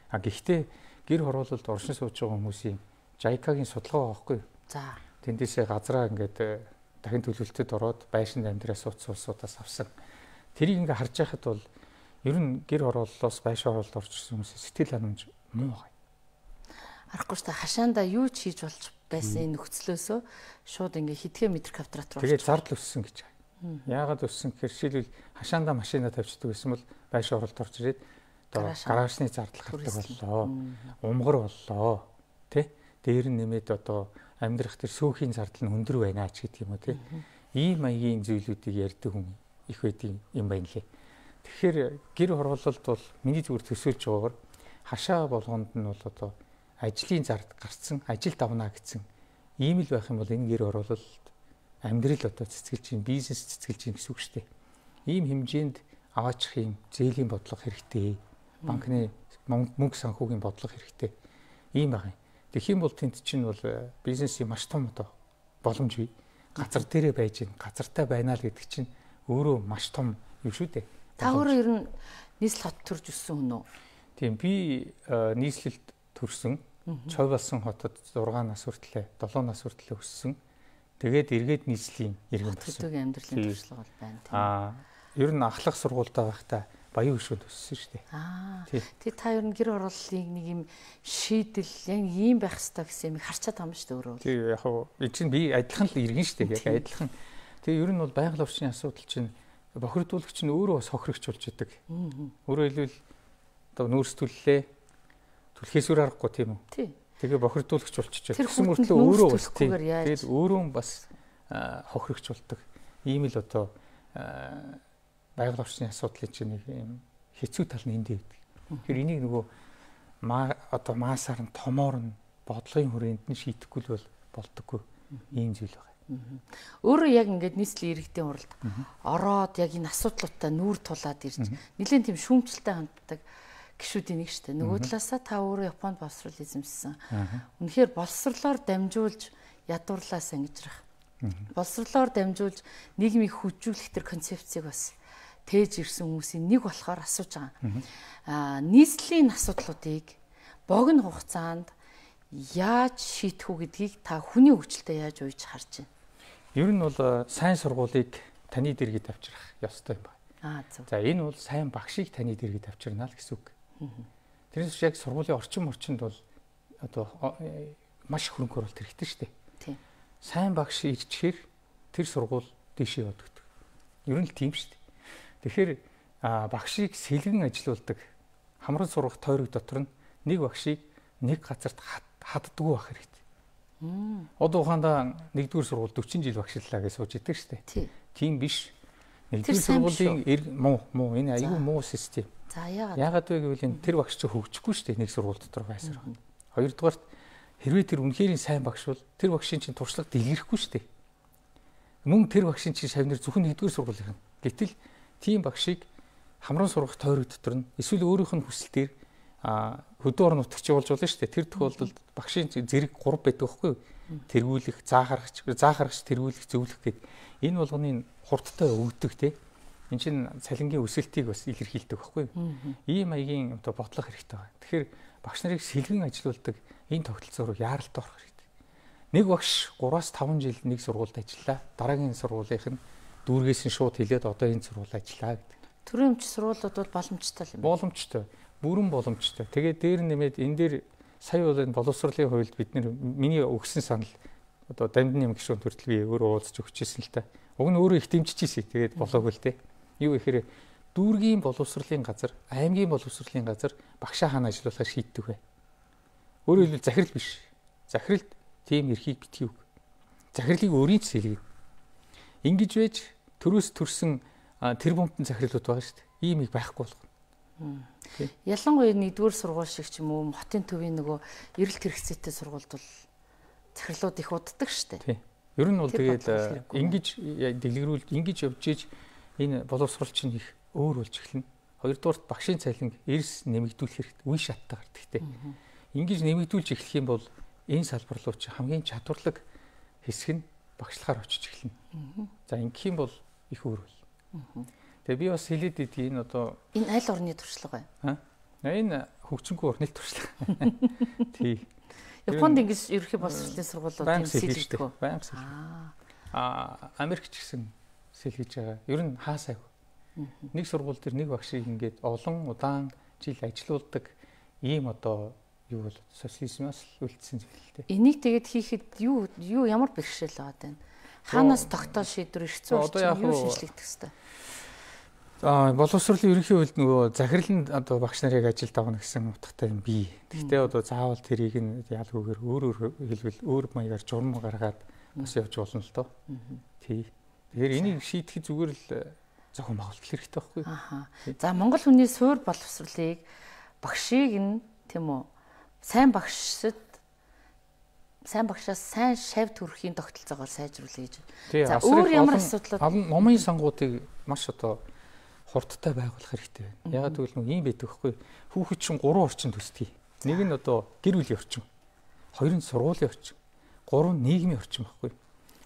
А гэхдээ гэр хороололд оршин сууж байгаа хүмүүсийн жайкагийн судалгаа байхгүй. За. Тэндээсээ газраа ингээд дахин төлөвлөлтөд ороод байшинд амьдраа сууц суусуудаас авсан. Тэрийг ингээд харж байхад бол ер нь гэр хорооллоос байш хороолд орж ирсэн хүмүүс сэтгэл ханамж муу байгаа. Арахгүй шүү дээ. Хашаандаа юу ч хийж болж байсан нөхцлөөсөө шууд ингээд хитгэн метр квадрат руу тэгээд зардал өссөн гэж байна. Яагаад өссөн гэхээр жишээлбэл хашаандаа машина тавьчихдаг байсан бол байш хороолд орж ирээд одоо гаражны зардал гардаг боллоо. Умгар боллоо. Тэ? Дээр нь нэмээд одоо амьдрах тэр сүүхийн зардал нь өндөр байна ч гэдэг юм уу тий. Ийм маягийн зүйлүүдийг ярьдаг хүн их байдгийн юм байна лээ. Тэгэхээр гэр хороололд бол миний зүгээр төсөөлж байгаагаар хашаа болгонд нь бол одоо ажлын зард гарцсан, ажил давна гэсэн ийм л байх юм бол энэ гэр хороололд амьдрал одоо цэцгэлж чинь, бизнес цэцгэлж чинь гэсэн үг шүү дээ. Ийм хэмжээнд аваачих юм зээлийн бодлого хэрэгтэй. Банкны мөнгө санхүүгийн бодлого хэрэгтэй. Ийм байгаа юм. Тэгэх юм бол тэнд чинь бол бизнесийн маш том одоо боломж бий. Газар дээрээ байж гин, газартай байна л гэдэг чинь өөрөө маш том юм шүү дээ. Та өөрөө ер нь нийслэл хот төрж өссөн хүн үү? Тийм би нийслэлд төрсөн. Чой болсон хотод six нас хүртлээр seven нас хүртлээр өссөн. Тэгээд эргээд нийслэлийн иргэн төрсөн. Хөдөөгийн амьдралын туршлага бол байна тийм. Аа ер нь ахлах сургуультай байхдаа баян гүшүүд өссөн шүү дээ. Аа. Тэгээ та ер нь гэр хорооллыг нэг юм шийдэл яг ийм байх хэрэгтэй гэсэн юм харчаад байгаа юм шүү дээ өөрөө. Тийм яг хөө энэ чинь би адилхан л иргэн шүү дээ. Яг адилхан. Тэгээ ер нь бол байгаль орчны асуудал чинь бохирдуулагч нь өөрөө бас хохирогч болж идэг. Өөрөөр хэлбэл одоо нүүрстүүллээ түлхээс үр аргагүй тийм үү? Тийм. Тэгээ бохирдуулагч болчихж байгаа. Тэгсэн мөртлөө өөрөө бас тийм. Тэгээд өөрөө бас хохирогч болдог. Ийм л одоо байгаль орчны асуудлын чинь нэг юм хэцүү тал нь эндээ байдаг. Тэгэхээр энийг нөгөө маа одоо маасаар нь томоор нь бодлогын хүрээнд нь шийдэхгүй л бол болдоггүй ийм зүйл байна. Өөрөө яг ингээд нийслэлийн иргэдийн уралд ороод яг энэ асуудлуудаа нүүр тулаад ирж нэлээд тийм шүүмжлэлтэй ханддаг гишүүдийн нэг шүү дээ. Нөгөө талаасаа та өөрөө Японд боловсрол эзэмшсэн. Үнэхээр боловсрлоор дамжуулж ядуурлаа сангижрах. Боловсрлоор дамжуулж нийгмийг хүчжүүлэх төр концепцийг бас тээж ирсэн хүмүүсийн нэг болохоор асууж байгаа. Аа нийслэлийн асуудлуудыг богино хугацаанд яаж шийдэх үү гэдгийг та хүний хөгжилтэй яаж уйж харж байна? Ер нь бол сайн сургуулийг таны дэргэд авчрах ёстой юм байна. Аа зөв. За энэ бол сайн багшийг таны дэргэд авчирна л гэсэн үг. Тэрнээс яг сургуулийн орчин орчинд бол одоо маш хөрөнгө оруулалт хэрэгтэй шүү дээ. Тийм. Сайн багш ирчихээр тэр сургууль дэшээ явдаг. Ер нь л тийм шүү дээ. Тэгэхээр багшийг сэлгэн ажилуулдаг хамран сургах тойрог дотор нь нэг багшийг нэг газарт хаддаггүй байх хэрэгтэй. Одоо ухаандаа нэгдүгээр сургууль дөрвөн жил багшлалаа гэж сууж идэг шүү дээ. Тийм биш. Нэгдүгээр сургуулийн муу муу энэ аюу муу систем. За яагаад? Яагаад вэ гэвэл энэ тэр багш чинь хөгжихгүй шүү дээ нэг сургууль дотор байсаар. Хоёрдугаарт хэрвээ тэр үнэхээр сайн багш бол тэр багшийн чинь туршлага дэлгэрхгүй шүү дээ. Мөн тэр багшийн чинь шавнар зөвхөн нэгдүгээр сургуулийн. Гэтэл тийм багшийг хамран сургах тойрог дотор нь эсвэл өөрийнх нь хүсэлтээр а хөдөө орон нутагч болж болно шүү дээ. Тэр тохиолдолд багшийн зэрэг гурав байдаг байхгүй юу? Тэргүүлэх, заахаргач, заахаргач тэргүүлэх, зөвлөх гэдэг. Энэ болгоны хурдтай өгдөг тий. Энд чинь цалингийн өсөлтийг бас илэрхийлдэг байхгүй юу? Ийм маягийн одоо бодлого хэрэгтэй байна. Тэгэхээр багш нарыг сэлгэн ажилуулдаг энэ тогтолцоо руу яаралтай орох хэрэгтэй. Нэг багш гураас таван жил нэг сургуульд ажиллаа. Дараагийн сургуулийнх нь дүүргээс нь шууд хэлээд одоо энэ сургуульд ажиллаа гэдэг. Төрийн өмч сургуулиуд бол боломжтой юм байна. Боломжтой. Бүрэн боломжтой. Тэгээд дээр нэмээд энэ дээр сая бол энэ боловсролын хувьд бид нэр миний өгсөн санал одоо дамдны юм гişүүн төртөл би өөрөө уулзч өгчээсэн л та. Уг нь өөрөө их дэмжижсэн. Тэгээд болоогүй л те. Юу гэхээр дүүргийн боловсролын газар, аймгийн боловсролын газар багшаа хаана ажиллуулахаар шийддэг вэ? Өөрөөр хэлбэл захирал биш. Захиралд тийм эрхийг битгий үг. Захирлыг өөрийн ч сэлгэн. Ингэж байж төрөөс төрсэн тэр бомтон захирлууд байгаа шүү дээ. Ийм их байхгүй болгоно. Ялангуяа нэгдүгээр сургууль шиг ч юм уу хотын төвийн нөгөө эрэлт хэрэгцээтэй сургуульд бол захирлууд их уддаг шүү дээ. Ер нь бол тэгээд ингэж дэлгэрүүлж ингэж явж иж энэ боловсрол чинь их өөр болж эхэлнэ. Хоёрдугаарт багшийн цалин эрс нэмэгдүүлэх хэрэгтэй. Үе шаттай гардаг те. Ингэж нэмэгдүүлж эхлэх юм бол энэ салбар руу чи хамгийн чадварлаг хэсэг нь багшлахаар очиж эхэлнэ. За ингэх юм бол их өөр бол. Тэгээ би бас хэлээд идэх энэ одоо энэ аль орны туршлага вэ? Аа. Энэ хөгжингүй орны туршлага. Тий. Японд ингэж ерөнхий боловсролын сургуулиуд юм сэлгдэг. Баян сэлгэж. Аа, Америкч гэсэн сэлгэж байгаа. Ер нь хаасайг. Нэг сургууль дээр нэг багшийг ингээд олон удаан жил ажилуулдаг ийм одоо юу бол социализмаас үлдсэн зүйл л дээ. Энийг тэгээд хийхэд юу юу ямар бэрхшээл байгаа вэ? Хаанаас тогтоол шийдвэр ирэх зүй юу шинжлэгдэх хэвээр? За боловсролын ерөнхий хувьд нөгөө захирал нь одоо багш нарыг ажилд авах гэсэн утгатай юм бий. Гэхдээ одоо заавал тэрийг нь ялгүйгээр өөр өөр хэлбэл өөр маягаар журам гаргаад бас явж болно л доо. Тий. Тэгэхээр энийг шийдэхэд зүгээр л зохион байгуулалт хэрэгтэй байхгүй юу? Ахаа. За Монгол хүний суур боловсролыг багшийг нь тийм үү сайн багшд сайн багшаас сайн шавь төрхийн тогтолцоогоор сайжруулъя гэж. За өөр ямар асуудлууд номын сангуудыг маш одоо хурдтай байгуулах хэрэгтэй байна. Ягаад гэвэл нэг юм байдаг хгүй. Хүүхэд чинь гурван орчин төсдөг. Нэг нь одоо гэр бүлийн орчин. Хоёр нь сургуулийн орчин. Гурав нь нийгмийн орчин байхгүй.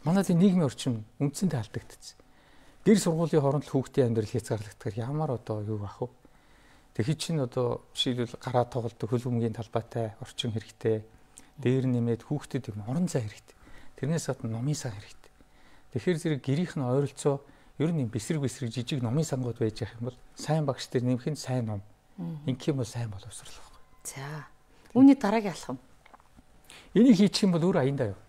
Манайд нийгмийн орчин үндсэндээ алдагдчихсан. Гэр сургуулийн хооронд л хүүхдийн амьдрал хязгаарлагдахаар ямар одоо юу ах вэ? Тэгэхэд чинь одоо жишээлбэл гараа тоглолт хөлбөмбөгийн талбайтай орчин хэрэгтэй. Дээр нэмээд хүүхдэд юм орон зай хэрэгтэй. Тэрнээс гадна номын сан хэрэгтэй. Тэгэхээр зэрэг гэрийнх нь ойролцоо ер нь бэсрэг бэсрэг жижиг номын сангууд байж явах юм бол сайн багш дээр нэмэх нь сайн ном. Инх юм бол сайн боловсрол байхгүй. За. Үүний дараагийн алхам. Энийг хийчих юм бол өөр аяндаа юу?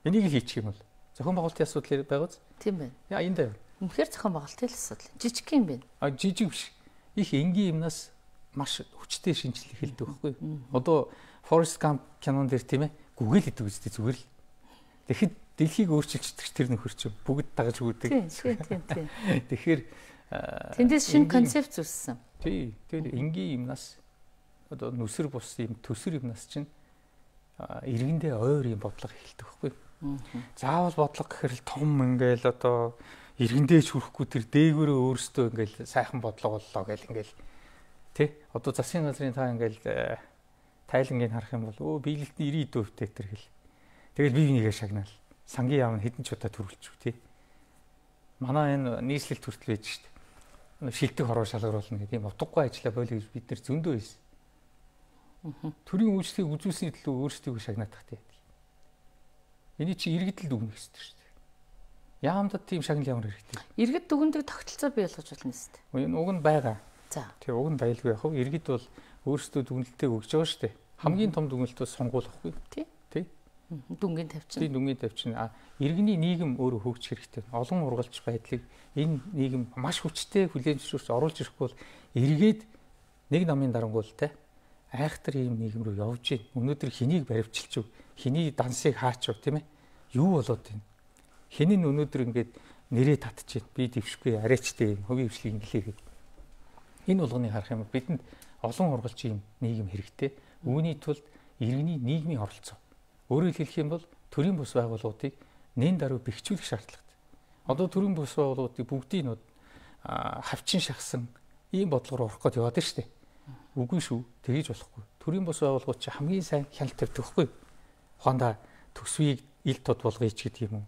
Энийг хийчих юм бол зохион байгуулалтын асуудал байгааз? Тийм байна. Яа аяндаа юу? Үнэхээр зохион байгуулалтын асуудал. Жижиг юм байна. А жижиг биш. Их энгийн юмнаас маш хүчтэй шинжилэл эхэлдэг байхгүй. Одоо Forrest Gump кинон дээр тийм ээ гүгэл идэг үстэй зүгээр л. Тэгэхэд дэлхийг өөрчилчихдэг тэр нөхөр чинь бүгд дагаж үрдэг. Тийм тийм тийм. Тэгэхээр Тэндээс шинэ концепт зүссэн. Тий. Тэгээд энгийн юмнаас одоо нүсэр бус юм төсөр юмнаас чинь иргэндээ ойр юм бодлого эхэлдэг байхгүй. Заавал бодлого гэхэр л том ингээл одоо иргэндээ ч хүрэхгүй тэр дээгүүрээ өөрсдөө ингээл сайхан бодлого боллоо гэл ингээл тий. Одоо засгийн газрын та ингээл тайлангийг харах юм бол өө биелэлтний ирээдүйн өвтэй тэр хэл. Тэгэл бие бинийгээ шагнаал. Сангийн яам нь хэдэн ч удаа төрүүлчих тий. Манай энэ нийслэлт хүртэл байж штт. Шилдэг хороо шалгаруулна гэдэг юм утгагүй ажилла боли гэж бид нэр зөндөө байсан. Төрийн үйлчлэгийг үзүүлсний төлөө өөрсдийгөө шагнаадах тий. Эний чи иргэдэлд өгнө гэсэн шүү дээ. Яамдад тийм шагнал ямар хэрэгтэй. Иргэд дүгндэг тогтолцоо бий болгож болно шүү дээ. Энэ уг нь байгаа. За. Тэгээ уг нь байлгүй яг. Иргэд бол өөрсдөө дүгнэлтээ өгж байгаа шүү дээ. Хамгийн том дүгнэлт бол сонгуул ахгүй. Тий. Тий. Дүнгийн тавьчин. Тий, дүнгийн тавьчин. А иргэний нийгэм өөрөө хөгжих хэрэгтэй. Олон ургалж байдлыг энэ нийгэм маш хүчтэй хүлээн зөвшөөрч оруулж ирэхгүй бол эргээд нэг намын дарангуул те айхтар ийм нийгэм рүү явж гин. Өнөөдөр хэнийг баривчилж, хэний дансыг хаач тийм ээ. Юу болоод байна? Хэн нь өнөөдөр ингээд нэрээ татчих, би дэвшгүй арайчтай хувийн хвшлийг инглээ гэдэг. Энэ болгоныг харах юм бол бидэнд олон ургалж ийм нийгэм хэрэгтэй. Үүний тулд иргэний нийгмийн оролцоо. Өөрөөр хэлэх юм бол төрийн бус байгууллагуудыг нэн даруй бэхжүүлэх шаардлагатай. Одоо төрийн бус байгууллагуудыг бүгдийг нь хавчин шахсан ийм бодлогоор орох гээд яваад байна шүү дээ. Үгүй шүү. Тэгэж болохгүй. Төрийн бус байгууллагууд чи хамгийн сайн хяналт тавьдаг байхгүй. Ухаандаа төсвийг ил тод болгоё ч гэдэг юм уу.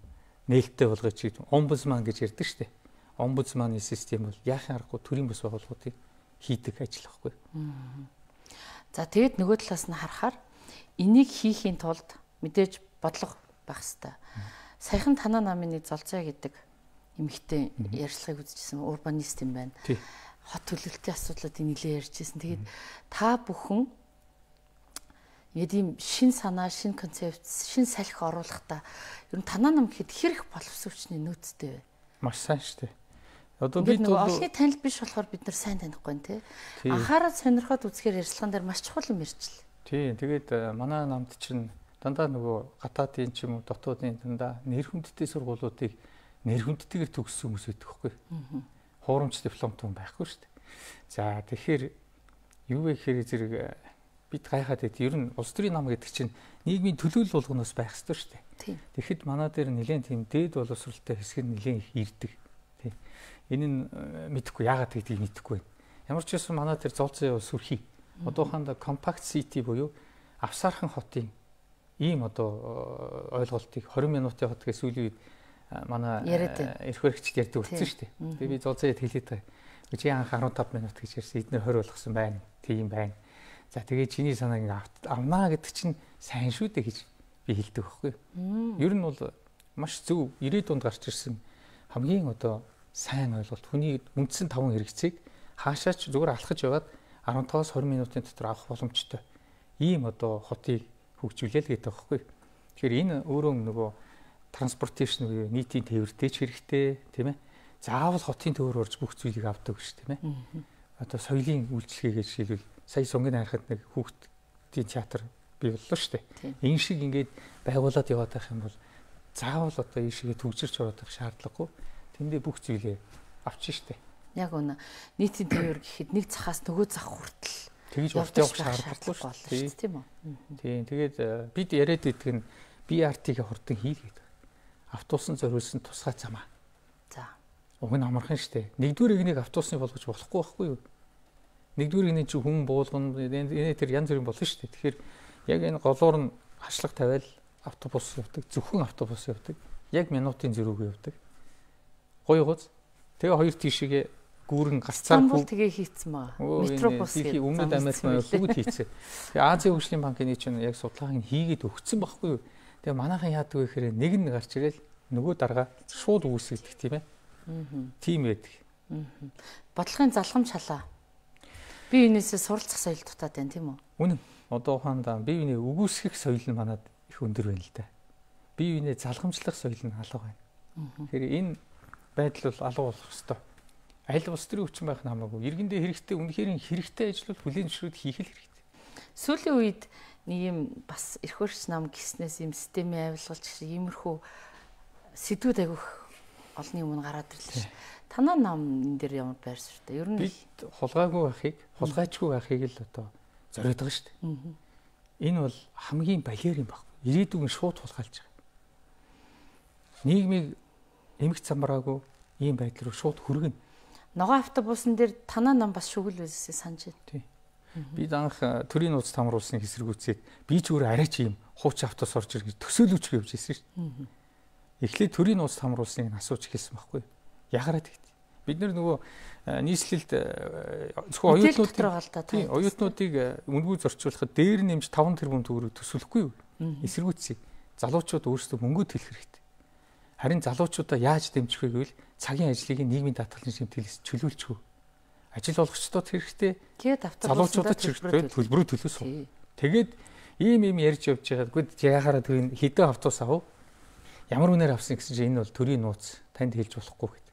Нээлттэй болгоё ч гэдэг. Омбудсман гэж ярьдаг шүү дээ. Омбудсманы систем бол яахын аргагүй төрийн бус байгууллагуудыг хийдэг ажил байхгүй. За тэгэд нөгөө талаас нь харахаар энийг хийхийн тулд мэдээж бодлого байх хэрэгтэй. Саяхан танаа намын нэг Золзой гэдэг эмэгтэй ярьцлагыг үзчихсэн урбанист юм байна. Хот төлөвлөлтийн асуудлуудыг нэлээд ярьжсэн. Тэгээд та бүхэн яг ийм шин санаа, шин концепт, шин салхи оруулахдаа ер нь танаа нам гэхэд хэрэг боловсруучны нөөцтэй вэ? Маш сайн шүү дээ. Одоо бид бол олонний танил биш болохоор бид нар сайн танихгүй нэ тий. Анхаарал сонирхоод үзэхээр ярьцлаган дээр маш чухал юм ярьчихлаа. Тий, тэгээд манай намд чинь дандаа нөгөө гадаадын ч юм уу дотоодын дандаа нэр хүндтэй сургуулиудыг нэр хүндтэйгээр төгссөн хүмүүс байдаг хгүй. Хуурамч дипломтой хүн байхгүй шүү дээ. За тэгэхээр юу вэ гэхээр зэрэг бид гайхаад байд. Ер нь улс төрийн нам гэдэг чинь нийгмийн төлөөлөл болгоноос байх ёстой шүү дээ. Тэгэхэд манай дээр нэлээд тийм дээд боловсролтой хэсэг нь нэлээд их ирдэг. Тий. Энэ нь мэдэхгүй яагаад гэдгийг мэдэхгүй байна. Ямар ч байсан манай дээр Золзой сүрхий. Одоохондоо compact city буюу авсаархан хотын ийм одоо ойлголтыг двадцать минутын хот гэж сүүлийн үед манай эрх баригчд ярьдаг болсон шүү дээ. Тэгээ би Золзойд хэлээд байгаа. Чи анх арван таван минут гэж ярьсан. Эдгээр двадцать болгосон байна. Тийм байна. За тэгээ чиний санааг ингээ авнаа гэдэг чинь сайн шүү дээ гэж би хэлдэг байхгүй. Ер нь бол маш зөв ирээдүйд гарч ирсэн хамгийн одоо сайн ойлголт. Хүний үндсэн таван хэрэгцээг хаашаач зүгээр алхаж яваад арван таваас двадцать минутын дотор авах боломжтой. Ийм одоо хотыг хөгжүүлээл гэдэг байхгүй. Тэгэхээр энэ өөрөө нөгөө транспортейшн буюу нийтийн тээвэртэй ч хэрэгтэй тийм ээ. Заавал хотын төвөөр орж бүх зүйлийг авдаг гэж тийм ээ. Одоо соёлын үйлчлэгээ гэж хэлвэл сая сунгийн харахад нэг хүүхдийн театр бий боллоо шүү дээ. Энэ шиг ингээд байгуулад яваад байх юм бол заавал одоо энэ шигээ төгжирч ороод байх шаардлагагүй. Тэндээ бүх зүйлээ авчих шүү дээ. Яг үнэ. Нийтийн тээвэр гэхэд нэг захаас нөгөө зах хүртэл тэгж урт явах шаардлагагүй шүү дээ, тийм үү? Тийм. Тэгээд бид яриад идэх нь би ар ти-г хурдан хийлгээд. Автобусан зориулсан тусгай замаа. За. Уг нь амархан шүү дээ. Нэгдүгээр игнийг автобусны болгож болохгүй байхгүй юу? Нэгдүгээр игний чи хүн буулгана, энэ тэр янз бүрийн болно шүү дээ. Тэгэхээр яг энэ голоор нь хашлах тавиал автобус явдаг, зөвхөн автобус явдаг. Яг минутын зэрүүг явдаг. Гоё гоц. Тэгээ хоёр тишээгээ гүүрэн галцаар хүү тэгээ хийцэн маа. Метробус гэдэг өмнөд Америк маань бүгд хийцээ. Тэгээ Азийн хөгжлийн банкны чинь яг судалгааг хийгээд өгсөн байхгүй юу? Тэгээ манайхан яадаг вэ гэхээр нэг нь гарч ирэл нөгөө дарга шууд үүсгдэг тийм ээ. Аа. Тийм байдаг. Аа. Бодлогын залгамж халаа. Би энэсээ суралцах соёл дутаад байна тийм үү? Үнэн. Одоо ухаандаа бие биенээ үгүйсгэх соёл нь манад их өндөр байна л да. Бие биенээ залгамжлах соёл нь алга байна. Тэгэхээр энэ байдал бол алга болох ёстой. Аль улс төрийн хүчин байх нь хамаагүй. Иргэндээ хэрэгтэй, үнэхээр хэрэгтэй ажил бол хүлээн зөвшөөрөх хийх л хэрэгтэй. Сүүлийн үед нэг юм бас эрх хөрш нам гиснээс юм системийн авилгалч шиг иймэрхүү сэдвүүд агиох олонний өмнө гараад ирлээ шүү. Танаа нам энэ дээр ямар байр суурьтай? Ер нь бид хулгайгүй байхыг, хулгайчгүй байхыг л одоо зориод байгаа шүү дээ. Энэ бол хамгийн балиар юм баг. Ирээдүйн шууд хулгайлж байгаа. Нийгмийг эмх замбраагүй ийм байдал руу шууд хүргэнэ. Ногоон автобусан дээр танаа нам бас шүгэл байсан санаж байна. Тий. Бид анх төрийн нууц тамруулсныг эсэргүүцээд би ч өөр арай ч ийм хууч автобус орж ирэх төсөөлөвч гэвж ирсэн шүү дээ. Эхлээд төрийн нууц тамруулсныг асууж хэлсэн байхгүй. Ягараад гэв. Бид нар нөгөө нийслэлд зөвхөн оюутнуудыг оюутнуудыг үнгүй зорчуулахад дээр нэмж таван тэрбум төгрөг төсөөлөхгүй юу? Эсэргүүцье. Залуучууд өөрсдөө мөнгө төлөх хэрэгтэй. Харин залуучуудаа яаж дэмжих вэ гэвэл цагийн ажлыг нийгмийн даатгалын шимтгэлээс чөлөөлчихв. Ажил олгогчдод хэрэгтэй. Тэгээд залуучуудад төлбөрөө төлөөсөө. Тэгээд ийм ийм ярьж явж байгаа. Гэхдээ яхаараа тэр хэдэн автобус авав? Ямар үнээр авсан гэсэн чинь энэ бол төрийн нууц танд хэлж болохгүй гэдэг.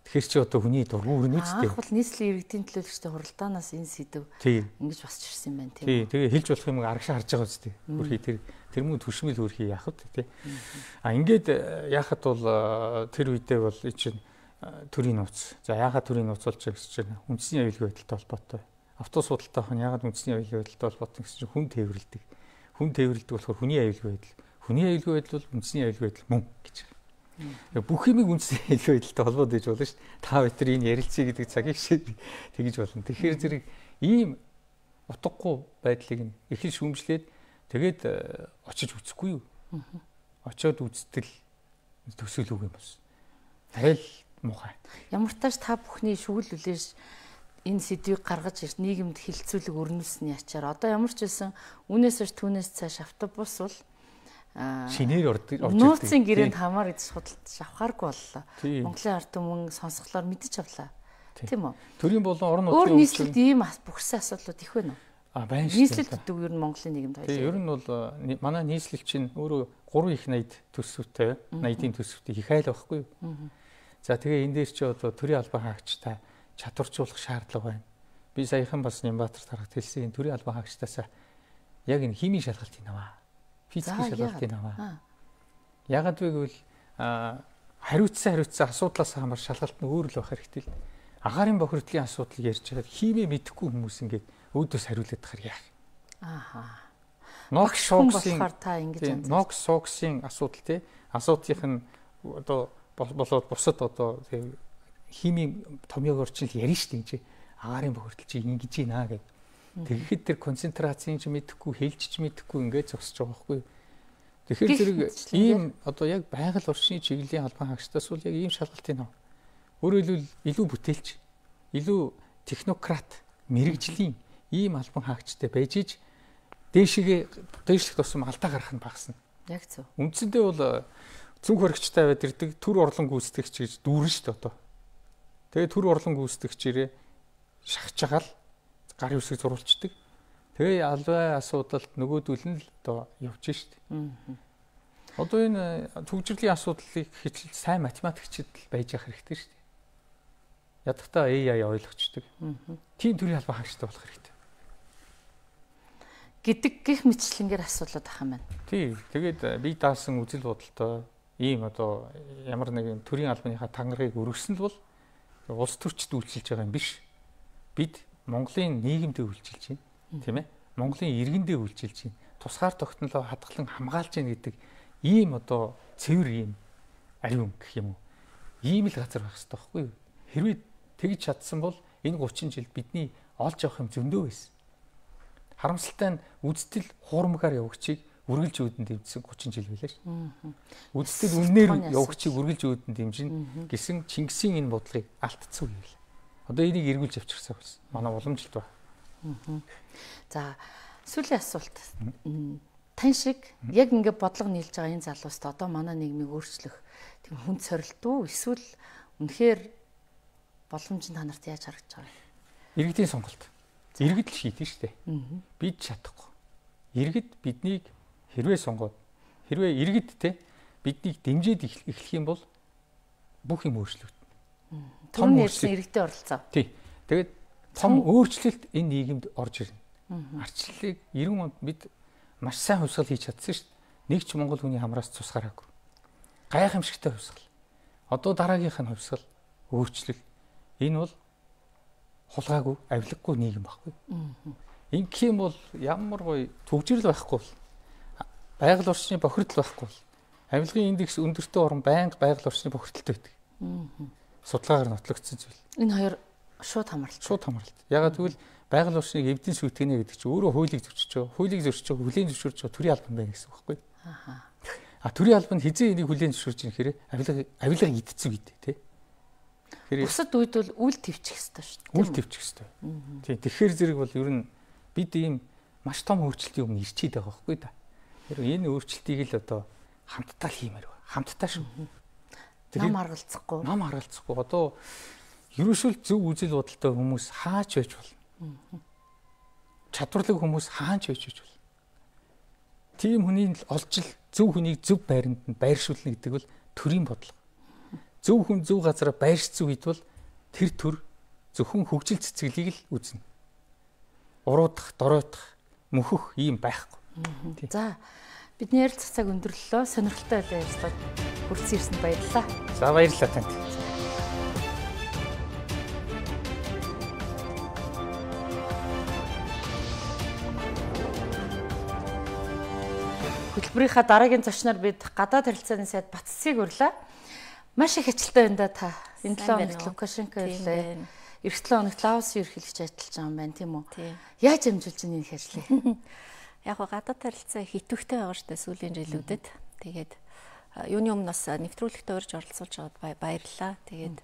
Тэгэхээр чи одоо хүний дургуй өрнө үстэй. Анх бол нийслэлийн иргэдийн төлөөлөгчтэй хуралдаанаас энэ сэдв ингэж босч ирсэн юм байна тийм. Тий, тэгээ хэлж болох юм арагшаа харж байгаа үстэй. Хөрхий тэр тэр мөн төшмөл хөрхий яах вэ тий. А ингээд яахад бол тэр үедээ бол чинь төрийн нууц. За яагаад төрийн нууц болж байгаа гэж чинь үндэсний аюулгүй байдалтай холбоотой. Автобус судалтай хан яагаад үндэсний аюулгүй байдалтай холбоотой гэсэн чинь хүн тээвэрлдэг. Хүн тээвэрлдэг болохоор хүний аюулгүй байдал. Хүний аюулгүй байдал бол үндэсний аюулгүй байдал мөн гэж. Бүх юмыг үндэсний аюулгүй байдалтай холбоод байж болно шүү дээ. Та бид нар энэ ярилцъя гэдэг цагийг шиг тэгж болно. Тэгэхээр зэрэг ийм утгагүй байдлыг их л шүүмжлээд тэгээд очиж үзэхгүй юу? Очоод үзтэл төсөөлөв юм бас. Арай л муухай. Ямар ч тааш та бүхний шүгэл үлээж энэ сэдвийг гаргаж ирж нийгэмд хилцүүлэг өрнүүлсний ачаар одоо ямар ч байсан үнээс ш түүнээс цааш автобус бол шинээр орж ирдэг. Нууцын гэрээнд хамаар гэж судалж авахааргүй боллоо. Монголын ард түмэн сонсголоор мэдчих авлаа. Тийм үү? Төрийн болон орон нутгийн өөр нийслэлд ийм бүхсэн асуудлууд их байна уу? А байна шүү. Нийслэлд гэдэг ер нь Монголын нийгэмд хоёул. Тийм, ер нь бол манай нийслэл чинь өөрөө гурван их найд төсвөтэй, найдын төсвөтэй их айл байхгүй юу? За тэгээ энэ дээр чи одоо төрийн албан хаагчтай чадваржуулах шаардлага байна. Би саяхан бас Нямбатар тарахад хэлсэн энэ төрийн албан хаагчтаас яг энэ химийн шалгалтыг аваа. Физикийн шалгалтыг аваа. Ягаад вэ гэвэл хариуцсан хариуцсан асуудлаас хамаар шалгалт нь өөр л байх хэрэгтэй л. Агаарын бохирдлын асуудал ярьж байгаад химээ мэдэхгүй хүмүүс ингээд өөдөөс хариулаад тахаар яах. Ааха. Нокс шоксын та ингэж нокс шоксын асуудал тий асуудлынх нь одоо болоод бусад одоо химийн томьёог орчил ярина шүү дээ. Агаарын бохирдол чи ингэж ийна гэдэг. Тэгэхэд тэр концентрацийн ч мэдэхгүй, хэлж ч мэдэхгүй ингээд зогсож байгаа байхгүй. Тэгэхээр зэрэг ийм одоо яг байгаль орчны чиглэлийн албан хаагчдаас бол яг ийм шалгалтыг нав. Өөрөөр хэлбэл илүү бүтээлч, илүү технократ, мэрэгжлийн ийм албан хаагчтай байж иж дээшгээ дээшлэх тусам алдаа гарах нь багасна. Яг зөв. Үндсэндээ бол цүнх хоригчтай байд ирдэг төр орлон гүйцэтгэгч гэж дүүрэн шүү дээ одоо. Тэгээ төр орлон гүйцэтгэгчээрээ шахаж байгаа л гарын үсгийг зурулцдаг. Тэгээ албай асуудалд нөгөөдөл нь л одоо явж штт. Одоо энэ төгжрлийн асуудлыг хичээл сайн математикчид л байж явах хэрэгтэй штт. Ядахтаа эй ай ойлгочдөг. Тийм төрлийн албан хаагчтай болох хэрэгтэй. Гэдэг гих мэтчлэнгээр асуудлууд ах юм байна. Тий. Тэгээд би даасан үзэл бодолтой ийм одоо ямар нэгэн төрийн албаныхаа тангарыг өргөсөн л бол улс төрчид үйлчилж байгаа юм биш. Бид Монголын нийгэмдээ үйлчилж байна, тийм ээ? Монголын иргэндээ үйлчилж байна. Тусгаар тогтнолоо хадгалан хамгаалж байна гэдэг ийм одоо цэвэр ийм ариун гэх юм уу? Ийм л газар байх хэрэгтэй байхгүй юу? Хэрвээ тэгж чадсан бол энэ гучин жил бидний олж авах юм зөндөө байсан. Харамсалтай нь үздэл хуурмгаар явагчийг үргэлж үүдэн дэмжсэн гучин жил байлаа шүү. Үздэл үннээр явагчийг үргэлж үүдэн дэмжин гэсэн Чингисийн энэ бодлогыг алдцсан үе байлаа. Одоо энийг эргүүлж авчирсан болсон. Манай уламжилт ба. За сүүлийн асуулт. Тань шиг яг ингэ бодлого нийлж байгаа энэ залууст одоо манай нийгмийг өөрчлөх тийм хүнд сорилт уу эсвэл үнэхээр боломж нь та нарт яаж харагдаж байгаа вэ? Иргэдийн сонголт. Иргэд л шийдэн штэ. Бид чадахгүй. Иргэд биднийг хэрвээ сонгоод хэрвээ иргэд те биднийг дэмжиж эхлэх юм бол бүх юм өөрчлөгдөнө. Том нэрсэн иргэдийн оролцоо. Тий. Тэгээд том өөрчлөлт энэ нийгэмд орж ирнэ. Арчлалыг девяносто онд бид маш сайн хувьсгал хийж чадсан шүү дээ. Нэг ч Монгол хүний хамраас цус гараагүй. Гайхамшигтай хувьсгал. Одоо дараагийнх нь хувьсгал, өөрчлөл. Энэ бол хулгайгүй, авилгагүй нийгэм байхгүй. Ингэх юм бол ямар гоё төгжрөл байхгүй бол байгаль орчны бохирдол байхгүй бол авилгын индекс өндөртэй орн байнга байгаль орчны бохирдолтой байдаг. Судалгаагаар нотлогдсон зүйл. Энэ хоёр шууд хамааралтай. Шууд хамааралтай. Ягаад гэвэл байгаль орчныг эвдэн сүйтгэнэ гэдэг чинь өөрөө хуулийг зөрчиж байгаа. Хуулийг зөрчиж байгаа, хүлээн зөвшөөрч байгаа төрийн албан байна гэсэн үг байхгүй. Аа. А төрийн албанд хизээ энийг хүлээн зөвшөөрч байгаа хэрэг авилга авилга идцэг гэдэг тий. Бусад үед бол үл твчих хэвээр шүү дээ. Үл твчих хэвээр. Тий. Тэгэхээр зэрэг бол ер нь бид ийм маш том өөрчлөлтийн өмнө ирчээд байгаа байхгүй да. Тэр энэ өөрчлөлтийг л одоо хамтдаа л хиймээр байна. Хамтдаа шүү. Нам аргалцахгүй. Нам аргалцахгүй. Одоо ерөөсөө зөв үзэл бодолтой хүмүүс хаач байж болно. Чадварлаг хүмүүс хаач байж байж болно. Тийм хүний олж л зөв хүнийг зөв байранд нь байршуулна гэдэг бол төрийн бодлого. Зөв хүн зөв газараа байршсан үед бол тэр төр зөвхөн хөгжил цэцгэлийг л үзнэ. Уруудах, дороотох, мөхөх ийм байхгүй. За бидний ярилцах цаг өндөрлөлөө. Сонирхолтой байлаа ярьцгаад хүрсэн ирсэнд баярлалаа. За баярлалаа танд. Хөтөлбөрийнхаа дараагийн зочноор бид гадаад харилцааны сайд Батцыг урлаа. Маш их ажилттай байна да та. Энэ талаа хоногт Лукашенко ирлээ. Эх талаа хоногт Лаосын ерөнхийлөгч ажиллаж байгаа юм байна тийм үү? Яаж амжуулж ийн энэ ажлыг? Яг гоо гадаад харилцаа хитвэхтэй байгаа шүү дээ сүүлийн жилүүдэд. Тэгээд юуны өмнө бас нэвтрүүлэгтээ урьж оролцуулж байгаад баярлалаа. Тэгээд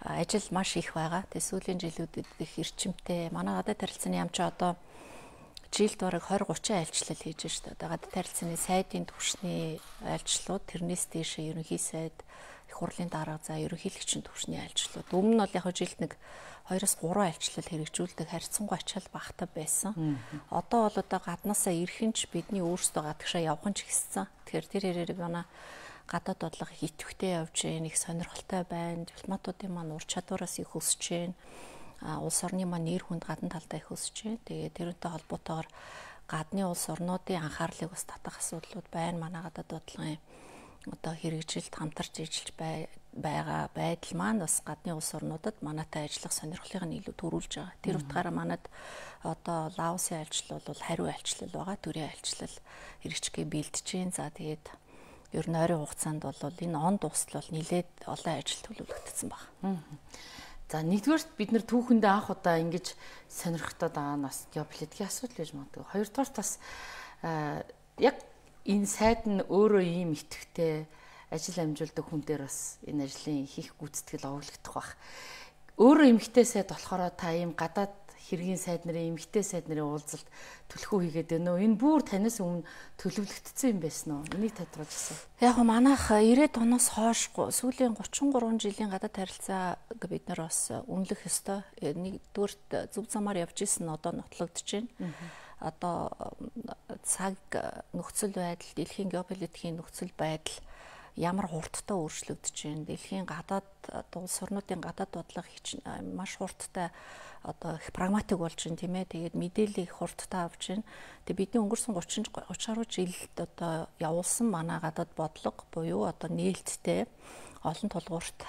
ажил маш их байгаа. Тэгээд сүүлийн жилүүдэд их эрчимтэй. Манай гадаад харилцааны яам чи одоо жилд бараг двадцать тридцать айлчлал хийж шүү дээ. Одоо гадаад харилцааны сайдын түвшний айлчлууд, тэрнээс дээш ерөнхий сайд, их хурлын дарга за ерөнхийлөгчийн түвшний айлчлууд. Өмнө нь бол яг жилд нэг хоёроос гурван айлчлал хэрэгжүүлдэг харьцангуй ачаал багтаа байсан. Одоо бол одоо гаднаасаа ирхэнч бидний өөрсдөө гадагшаа явхан ч гэсэн. Тэгэхээр тэр хэрэг манай гадаад бодлого хитвэхтэй явж гэн их сонирхолтой байна. Дипломатуудын маань ур чадвараас их өсөж гэн. Улс орны маань нэр хүнд гадна талдаа их өсөж байна. Тэгээд тэрнтэй холбоотойгоор гадны улс орнуудын анхаарлыг бас татах асуудлууд байна. Манай гадаад бодлогын одоо хэрэгжилт хамтарч ажиллаж байгаа байдал маань бас гадны улс орнуудад манайтай ажиллах сонирхлыг нь илүү төрүүлж байгаа. Тэр утгаараа манад одоо Лаосын айлчлал бол хариу айлчлал байгаа. Төрийн айлчлал хэрэгжихгээ бэлдэж байна. За тэгээд ер нь ойрын хугацаанд бол энэ он дуустал бол нэлээд олон ажил төлөвлөгдсөн байна. За нэгдүгээрт бид нэр түүхэндээ анх удаа ингэж сонирхтоод байгаа нь бас геополитикийн асуудал гэж магадгүй. Хоёрдугаарт бас яг энэ сайд нь өөрөө ийм итгэвтэй ажил амжуулдаг хүн дээр бас энэ ажлын хийх гүйцэтгэл овоглогдох байх. Өөрөө эмгтэй сайд болохоор та ийм гадаад хэргийн сайд нарын эмгтэй сайд нарын уулзалт төлхөө хийгээд байна уу? Энэ бүр танаас өмнө төлөвлөгдсөн юм байсан уу? Энийг тодруулжсэн. Яг го манайх ирээд оноос хойш сүүлийн гучин гурван жилийн гадаад харилцааг бид нар бас үнэлэх ёстой. Нэгдүгээрт зөв замаар явж исэн нь одоо нотлогдож байна. Одоо цаг нөхцөл байдал, дэлхийн геополитикийн нөхцөл байдал ямар хурдтай өөрчлөгдөж байна. Дэлхийн гадаад улс орнуудын гадаад бодлого маш хурдтай одоо их прагматик болж байна тийм ээ. Тэгээд мэдээлэл их хурдтай авч байна. Тэгээд бидний өнгөрсөн гучин гаруй жилд одоо явуулсан манай гадаад бодлого буюу одоо нээлттэй олон тулгуурт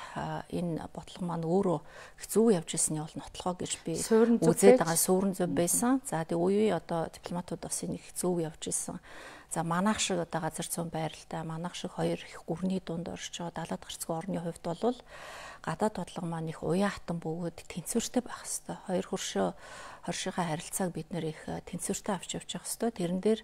энэ бодлого маань өөрөө их зөв явж ирсний бол нотлохоо гэж би үзээд байгаа суурин зөв байсан. За тэгээ үе үе одоо дипломатууд бас энэ их зөв явж ирсэн. За манайх шиг одоо газар зүүн байралтай манайх шиг хоёр их гүрний дунд орж байгаа далаад гарцгүй орны хувьд бол гадаад бодлого маань их уян хатан бөгөөд тэнцвэртэй байх хэвээр. Хоёр хөршөө хоршийнхаа харилцааг бид нэр их тэнцвэртэй авч явж явах хэвээр. Тэрэн дээр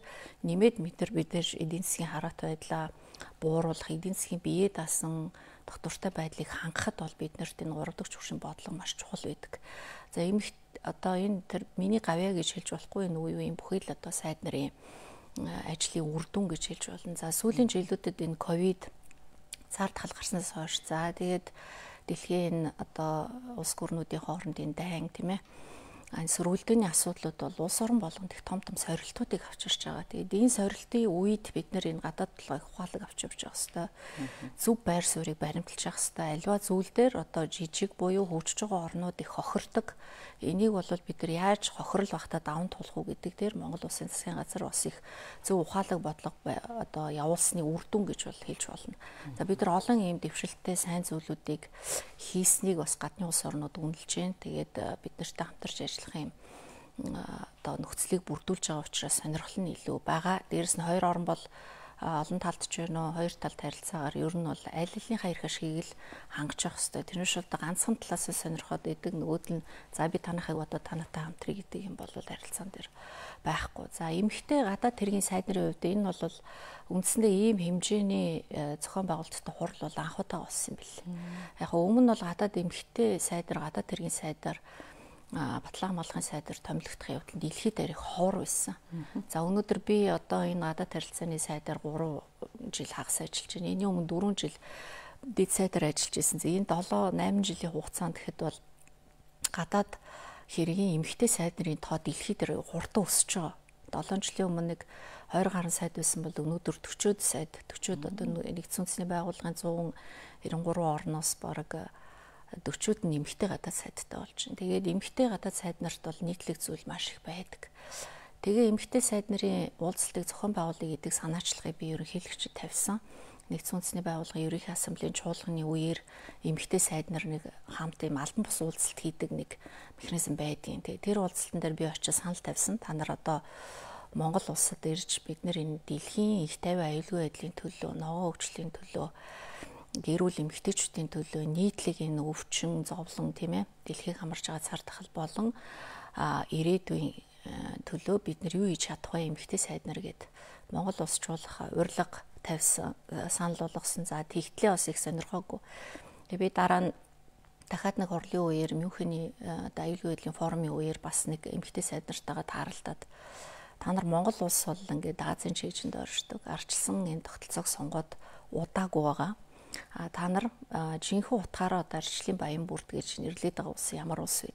нэмээд бид нар бид эдийн засгийн хараат байдлаа бууруулах, эдийн засгийн бие даасан доктортой байдлыг хангахад бол бид нарт энэ гурав дахь түвшин бодлого маш чухал байдаг. За эмх одоо энэ тэр миний гавья гэж хэлж болохгүй энэ үе үеийн бүхий л одоо сайд нарын ажлын үр дүн гэж хэлж болно. За сүүлийн жилүүдэд энэ ковид цаар тал гарснаас хойш за тэгээд дэлхийн одоо улс гүрнүүдийн хоорондын дайн тийм ээ энэ сөргөлдөөний асуудлууд бол улс орон болгонд их том том сорилтуудыг авчирч байгаа. Тэгээд энэ сорилтын үед бид нэр энэ гадаад толгойг ухаалаг авч явж байгаа хэвээр зөв байр суурийг баримталж явах хэвээр альва зүйл дээр одоо жижиг буюу хөгжиж байгаа орнууд их хохирдог. Энийг бол бид нар яаж хохирол багтаа даван туулах уу гэдэг дээр Монгол Улсын засгийн газар бас их зөв ухаалаг бодлого одоо явуулсны үр дүн гэж бол хэлж болно. За бид нар олон ийм дэвшилттэй сайн зүйлүүдийг хийснийг бас гадны улс орнууд үнэлж байна. Тэгээд бид нартай хамтарч ажиллах юм одоо нөхцөлийг бүрдүүлж байгаа учраас сонирхол нь илүү байгаа. Дээрэс нь хоёр орн бол олон талд ч байна уу, хоёр талд харилцаагаар ер нь бол аль алийнхаа эрх ашгийг л хангаж явах хэрэгтэй. Тэрнээс бол ганцхан талаас нь сонирхоод идэг, нөгөөд нь за би танахыг бодоод танаатай хамтрыг гэдэг юм бол харилцаан дээр байхгүй. За эмэгтэй гадаад тэргийн сайдны хувьд энэ бол үндсэндээ ийм хэмжээний зохион байгуулалттай хурал бол анхудаа болсон юм билээ. Яг өмнө нь бол гадаад эмэгтэй сайдар, гадаад тэргийн сайдар батлан хамгаалахын сайдар томилогдох явдал дэлхийд дээрх ховор байсан. За өнөөдөр би одоо энэ гадаад харилцааны сайдар гурван жил хагас ажиллаж байна. Энийн өмнө дөрвөн жил дэд сайдар ажиллаж байсан. Энэ долоо найман жилийн хугацаанд гэхэд бол гадаад хэргийн эмэгтэй сайдны тоо дэлхийд дээр хурдан өсөж байгаа. долоон жилийн өмнө нэг хоёр гаруй сайд байсан бол өнөөдөр төрчөөд сайд, төрчөөд одоо нэгдсэн үндэсний байгууллагын зуун нэрэн гурван орноос бараг дөрчүүд нь эмэгтэй гадаад сайдтай болж байна. Тэгээд эмэгтэй гадаад сайд нарт бол нийтлэг зүйл маш их байдаг. Тэгээ эмэгтэй сайд нарын уулзалтыг зохион байгуулъя гэдэг санаачлагыг би ерөнхийлөгчөд тавьсан. Нэгдсэн үндэсний байгууллагын ерөнхий ассамблеийн чуулганы үеэр эмэгтэй сайд нар нэг хамт юм албан бус уулзалт хийдэг нэг механизм байдгийн. Тэгээ тэр уулзалтан дээр би очиж санал тавьсан. Та нар одоо Монгол улсад ирж бид нар энэ дэлхийн их тайван аюулгүй байдлын төлөө, ногоон хөгжлийн төлөө, гэрүүл эмэгтэйчүүдийн төлөө нийтлэг энэ өвчин, зовлон тийм ээ дэлхийг хамарч байгаа цар тахал болон ирээдүйн төлөө бид нар юу хийж чадах вэ эмэгтэй сайд нар гэд Монгол улс чуулга урилга тавьсан, санал болгосон. За тэгтлээ бас их сонирхоогүй. Тэгээ би дараа нь дахиад нэг хурлын үеэр Мюнхений аюулгүй байдлын форумын үеэр бас нэг эмэгтэй сайд нартайгаа тааралдаад та нар Монгол улс бол ингээд Азийн чийжинд оршдог. Арчилсан энэ тогтолцоог сонгоод удаагүй байгаа. А та нар жинхэнэ утгаараа одоо арчлалын баян бүрд гэж нэрлэдэг байгаа улс ямар улс вэ?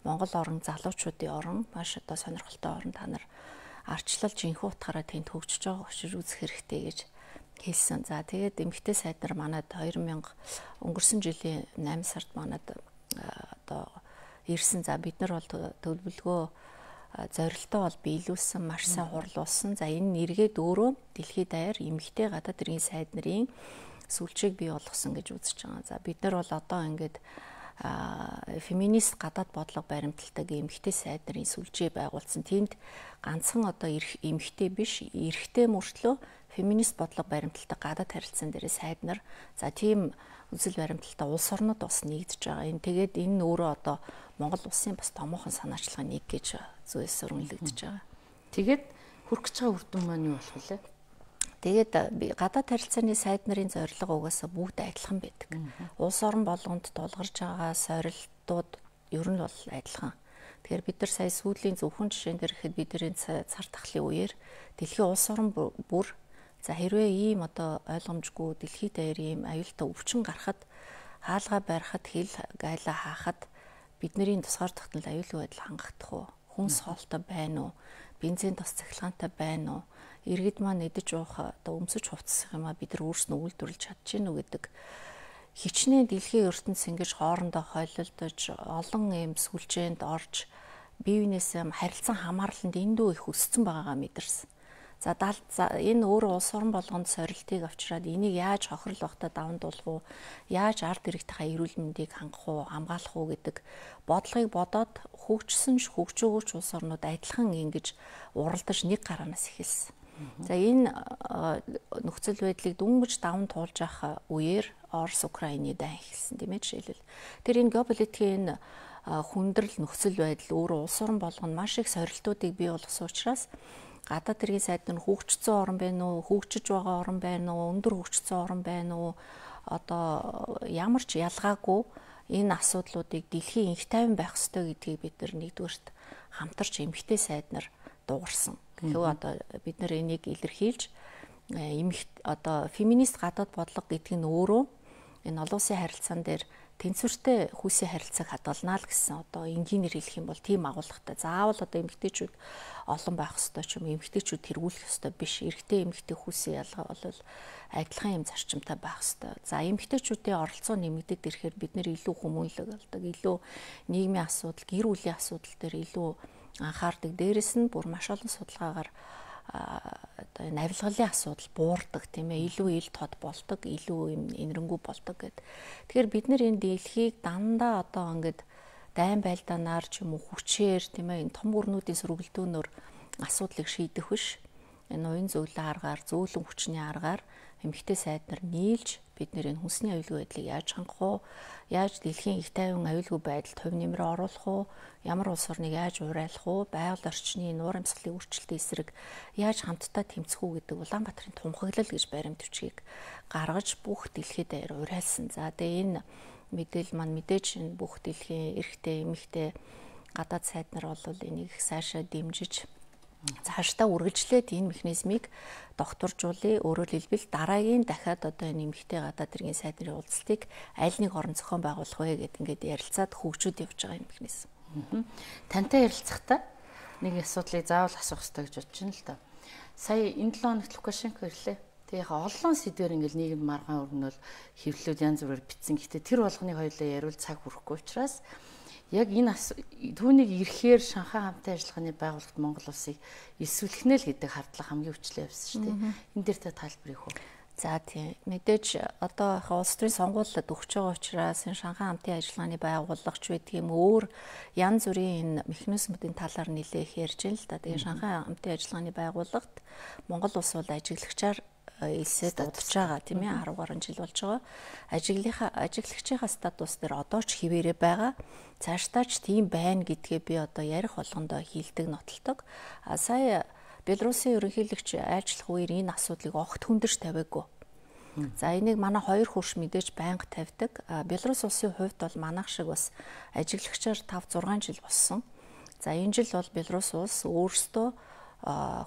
Монгол орн залуучуудын орн, маш одоо сонирхолтой орн. Та нар арчлал жинхэнэ утгаараа тэнд хөгжиж байгааг очиж үзэх хэрэгтэй гэж хэлсэн. За тэгээд эмэгтэй сайд нар манад хоёр мянга өнгөрсөн жилийн найман сард манад одоо ирсэн. За бид нар бол төлөвлөгөө зорилтоо бол биелүүлсэн, маш сайн хурлуулсан. За энэ нэргээд өөрөө дэлхийд даяар эмэгтэй гадаад иргэн сайд нарын сүлжээг бий болгосон гэж үзэж байгаа. За бид нар бол одоо ингээд феминист гадаад бодлого баримталдаг эмэгтэй сайд нарын сүлжээ байгуулсан. Тэнд ганцхан одоо эмэгтэй биш, эрэгтэй мөртлөө феминист бодлого баримталдаг гадаад харилцаан дээр сайд нар за тийм үзэл баримталтай улс орнууд бас нэгдэж байгаа. Энэ тэгээд энэ өөрөө одоо Монгол улсын бас томоохон санаачлагын нэг гэж зөөс өрнөлөгдөж байгаа. Тэгээд хүрэх гэж байгаа үр дүн маань юу болох вэ? Тэгээд гадаад харилцааны сайд нарын зорилго угаасаа бүгд адилхан байдаг. Улс орон болгонд тулгарч байгаа сорилтууд ер нь бол адилхан. Тэгэхээр бид нар сая сүүлийн зөвхөн жишээн дээр ихэд бидний цар тахлын үеэр дэлхийн улс орон бүр за хэрвээ ийм одоо ойлгомжгүй дэлхийд даяар ийм аюултай өвчин гарахад хаалгаа барихад хил гайлаа хаахад бидний тусгаар тогтнол аюулгүй байдал хангагдах уу? Хүнс хоолтой байна уу? Бензин тос цахилгаантай байна уу? Иргэд маань идэж уух одоо өмсөж хувцсах юм а бид нар өөрснөө үйлдвэрлэж чадчихэв нү гэдэг хичнээн дэлхийн ертөнц ингэж хоорондоо хойлолдож олон юм сүлжээнд орж бие биенээсээ харилцан хамаарланд эндүү их өссөн байгаагаа мэдэрсэн. За энэ өөрөө улс орон болгонд сорилтыг авчираад энийг яаж хохирол багтаа даван туулах уу, яаж ард иргэдийнхаа эрүүл мэндийг хангах уу, хамгаалах уу гэдэг бодлогыг бодоод хөгжсөн хөгжөөгөөч улс орнууд адилхан ингэж уралдаж нэг гараанаас эхэлсэн. За энэ нөхцөл байдлыг дүнгэж даван туулж авах үеэр Орос Украины дай эхэлсэн тийм ээ жишээлбэл. Тэр энэ геополитикийн хүндрэл нөхцөл байдал өөрөө улс орон болгоно маш их сорилтуудыг бий болгосон учраас гадаад хэргийн сайд нар хөгжсөн орн байна уу, хөгжиж байгаа орн байна уу, өндөр хөгжсөн орн байна уу, одоо ямар ч ялгаагүй энэ асуудлуудыг дэлхийн инх тайван байх ёстой гэдгийг бид нар нэгдүгээрт хамтарч эмэгтэй сайд нар дуугарсан. Гэвь одоо бид нар энийг илэрхийлж эмэгт одоо феминист гадаад бодлого гэдэг нь өөрөө энэ олон улсын харилцаан дээр тэнцвэртэй хүүсийн харилцааг хадгалнаа л гэсэн одоо энгийнээр хэлэх юм бол тийм агуулгатай. Заавал одоо эмэгтэйчүүд олон байх ёстой ч юм эмэгтэйчүүд тэргүүлэх ёстой биш. Эрэгтэй эмэгтэй хүүсийн ялгаа бол адилхан юм зарчимтай байх ёстой. За эмэгтэйчүүдийн оролцоо нэмэгдээд ирэхээр бид нэр илүү хүмүүнлэг болдог, илүү нийгмийн асуудал, гэр бүлийн асуудал дээр илүү анхаардаг. Дээрэс нь бүр маш олон судалгаагаар одоо энэ авилгалын асуудал буурдаг тийм ээ, илүү ил тод болдог, илүү юм энэрэнгүй болдог гэд. Тэгэхээр бид нэр энэ дэлхийг дандаа одоо ингээд дайн байлдаанаар ч юм уу хүчээр тийм ээ энэ том гүрнүүдийн сөргөлдөөнөөр асуудлыг шийдэх биш. Энэ уян зөвлөлийн аргаар, зөөлөн хүчний аргаар эмэгтэй сайд нар нийлж бид нэр энэ хүнсний аюулгүй байдлыг яаж хангах уу, яаж дэлхийн их тайван аюулгүй байдалд хувь нэмрээ оруулах уу, ямар улс орныг яаж урайлах уу, байгаль орчны нуур амьсгалын өөрчлөлтийн эсрэг яаж хамтдаа тэмцэх үү гэдэг Улаанбаатарын тунхаглал гэж баримтвчгийг гаргаж бүх дэлхийд даяар урайлсан. За тэгээ энэ мэдээлэл маань мэдээж энэ бүх дэлхийн эрхтэй эмэгтэй гадаад сайд нар бол энийг цаашаа дэмжиж цаашдаа үргэлжлээд энэ механизмыг докторжуулъя. Өөрөөр хэлбэл дараагийн дахиад одоо энэ эмэгтэй гадаад иргэн сайд нарын уулзалтыг аль нэг орон зохион байгуулах вэ гэдэг ингээд ярилцаад хөгжөөд явж байгаа юм механизм. Тантай ярилцахдаа нэг асуудлыг заавал асуух хэрэгтэй гэж бодож байна л да. Сая энэ долоо хоногт Лукашенко ирлээ. Тэгээ яг олон сэдвэр ингээд нийгэм маргаан өрнөл хэвлэлүүд янз бүрээр бичсэн. Гэхдээ тэр болгоныг хоёулаа яриул цаг хүрэхгүй учраас яг энэ түүнийг ирэхээр Шанхай хамтын ажиллагааны байгууллагт Монгол улсыг эсвэлхнэ л гэдэг хардлага хамгийн хүчлээ явсан шүү дээ. Энэ дээр та тайлбар хийх үү? За тийм. Мэдээж одоо улс төрийн сонгуулиуд өгч байгаа учраас энэ Шанхай хамтын ажиллагааны байгууллагч байдаг юм өөр янз бүрийн энэ механизмуудын талаар нэлээх ярьж байна л да. Тэгээ Шанхай хамтын ажиллагааны байгууллагт Монгол улс бол ажиглагчаар элсэд удаж байгаа тийм ээ арав гаруй жил болж байгаа. Ажиглалынхаа ажиглагчийн статус дээр одоо ч хിവэрэ байгаа. Цаашдаа ч тийм байна гэдгээ би одоо ярих болгондоо хилдэг нотолдог. А сая Белорусын ерөнхийлөгч айлчлах үеэр энэ асуудлыг огт хүндэрч тавиагүй. За энийг манай хоёр хурш мэдээж байнга тавьдаг. Белорус улсын хувьд бол манайх шиг бас ажиглагчаар тав зургаан жил болсон. За энэ жил бол Белорус улс өөрсдөө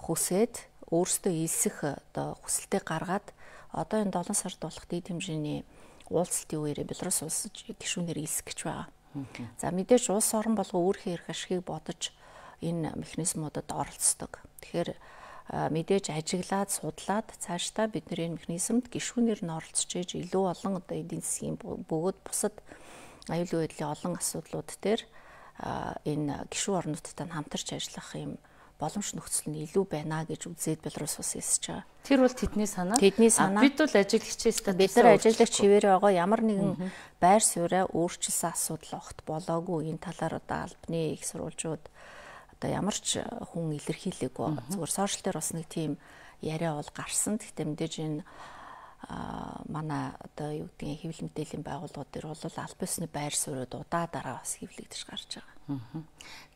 хүсээд өөрсдөө илсэх одоо хүсэлтээ гаргаад одоо энэ долоон сард болох дэд хэмжээний уулзалтын үеэр Белорус улс гишүүнээр илсэх гэж байгаа. За мэдээж улс орон болго өөрийнхөө эрх ашигыг бодож энэ механизмуудад оролцдог. Тэгэхээр мэдээж ажиглаад судлаад цаашдаа бид нэр энэ механизмд гишүүнээр нь оролцож ээж илүү олон одоо эдийн засгийн бөгөөд бусад аюулгүй байдлын олон асуудлууд дээр энэ гишүүн орнуудтай хамтарч ажиллах юм боломж нөхцөл нь илүү байна гэж үзээд Белорус улс хэлж байгаа. Тэр бол тэдний санаа. Тэдний санаа. Бид бол ажиглагчээс та бид нар ажиглагч хിവэрэ байгаа ямар нэгэн байр сууриа өөрчилсөн асуудал огт болоогүй. Энэ талаар одоо албаны их сурвалжууд одоо ямар ч хүн илэрхийлээгүй. Зүгээр сошиал дээр бас нэг тийм яриа бол гарсан. Гэхдээ мэдээж энэ манай одоо юу гэдгийг хэвлэл мэдээллийн байгууллагууд дээр бол аль бисны байр суурьуд удаа дараа бас хэвлэгдэж гарч байгаа.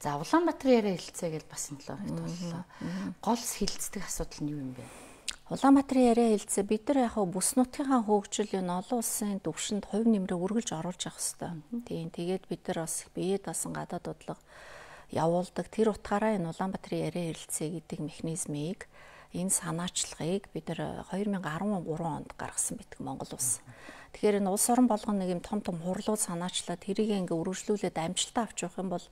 За Улаанбаатарын яриа хэлцээ гэж бас энэ талаар боллоо. Гол хилцдэг асуудал нь юу юм бэ? Улаанбаатарын яриа хэлцээ бид нар яг бүс нутгийнхаа хөгжил энэ олон улсын төвшөнд хувь нэмрээ үргэлж оруулж явах хэрэгтэй. Тийм тэгээд бид нар бас биед басан гадаад бодлого явуулдаг. Тэр утгаараа энэ Улаанбаатарын яриа хэлцээ гэдэг механизмыг энэ санаачлагыг бид нар хоёр мянган арван гурван онд гаргасан битг Монгол улс. Тэгэхээр энэ улс орон болгоно нэг юм том том хурлууд санаачлаад тэрийг ингээ өргөжлүүлээд амжилтаа авч явах юм бол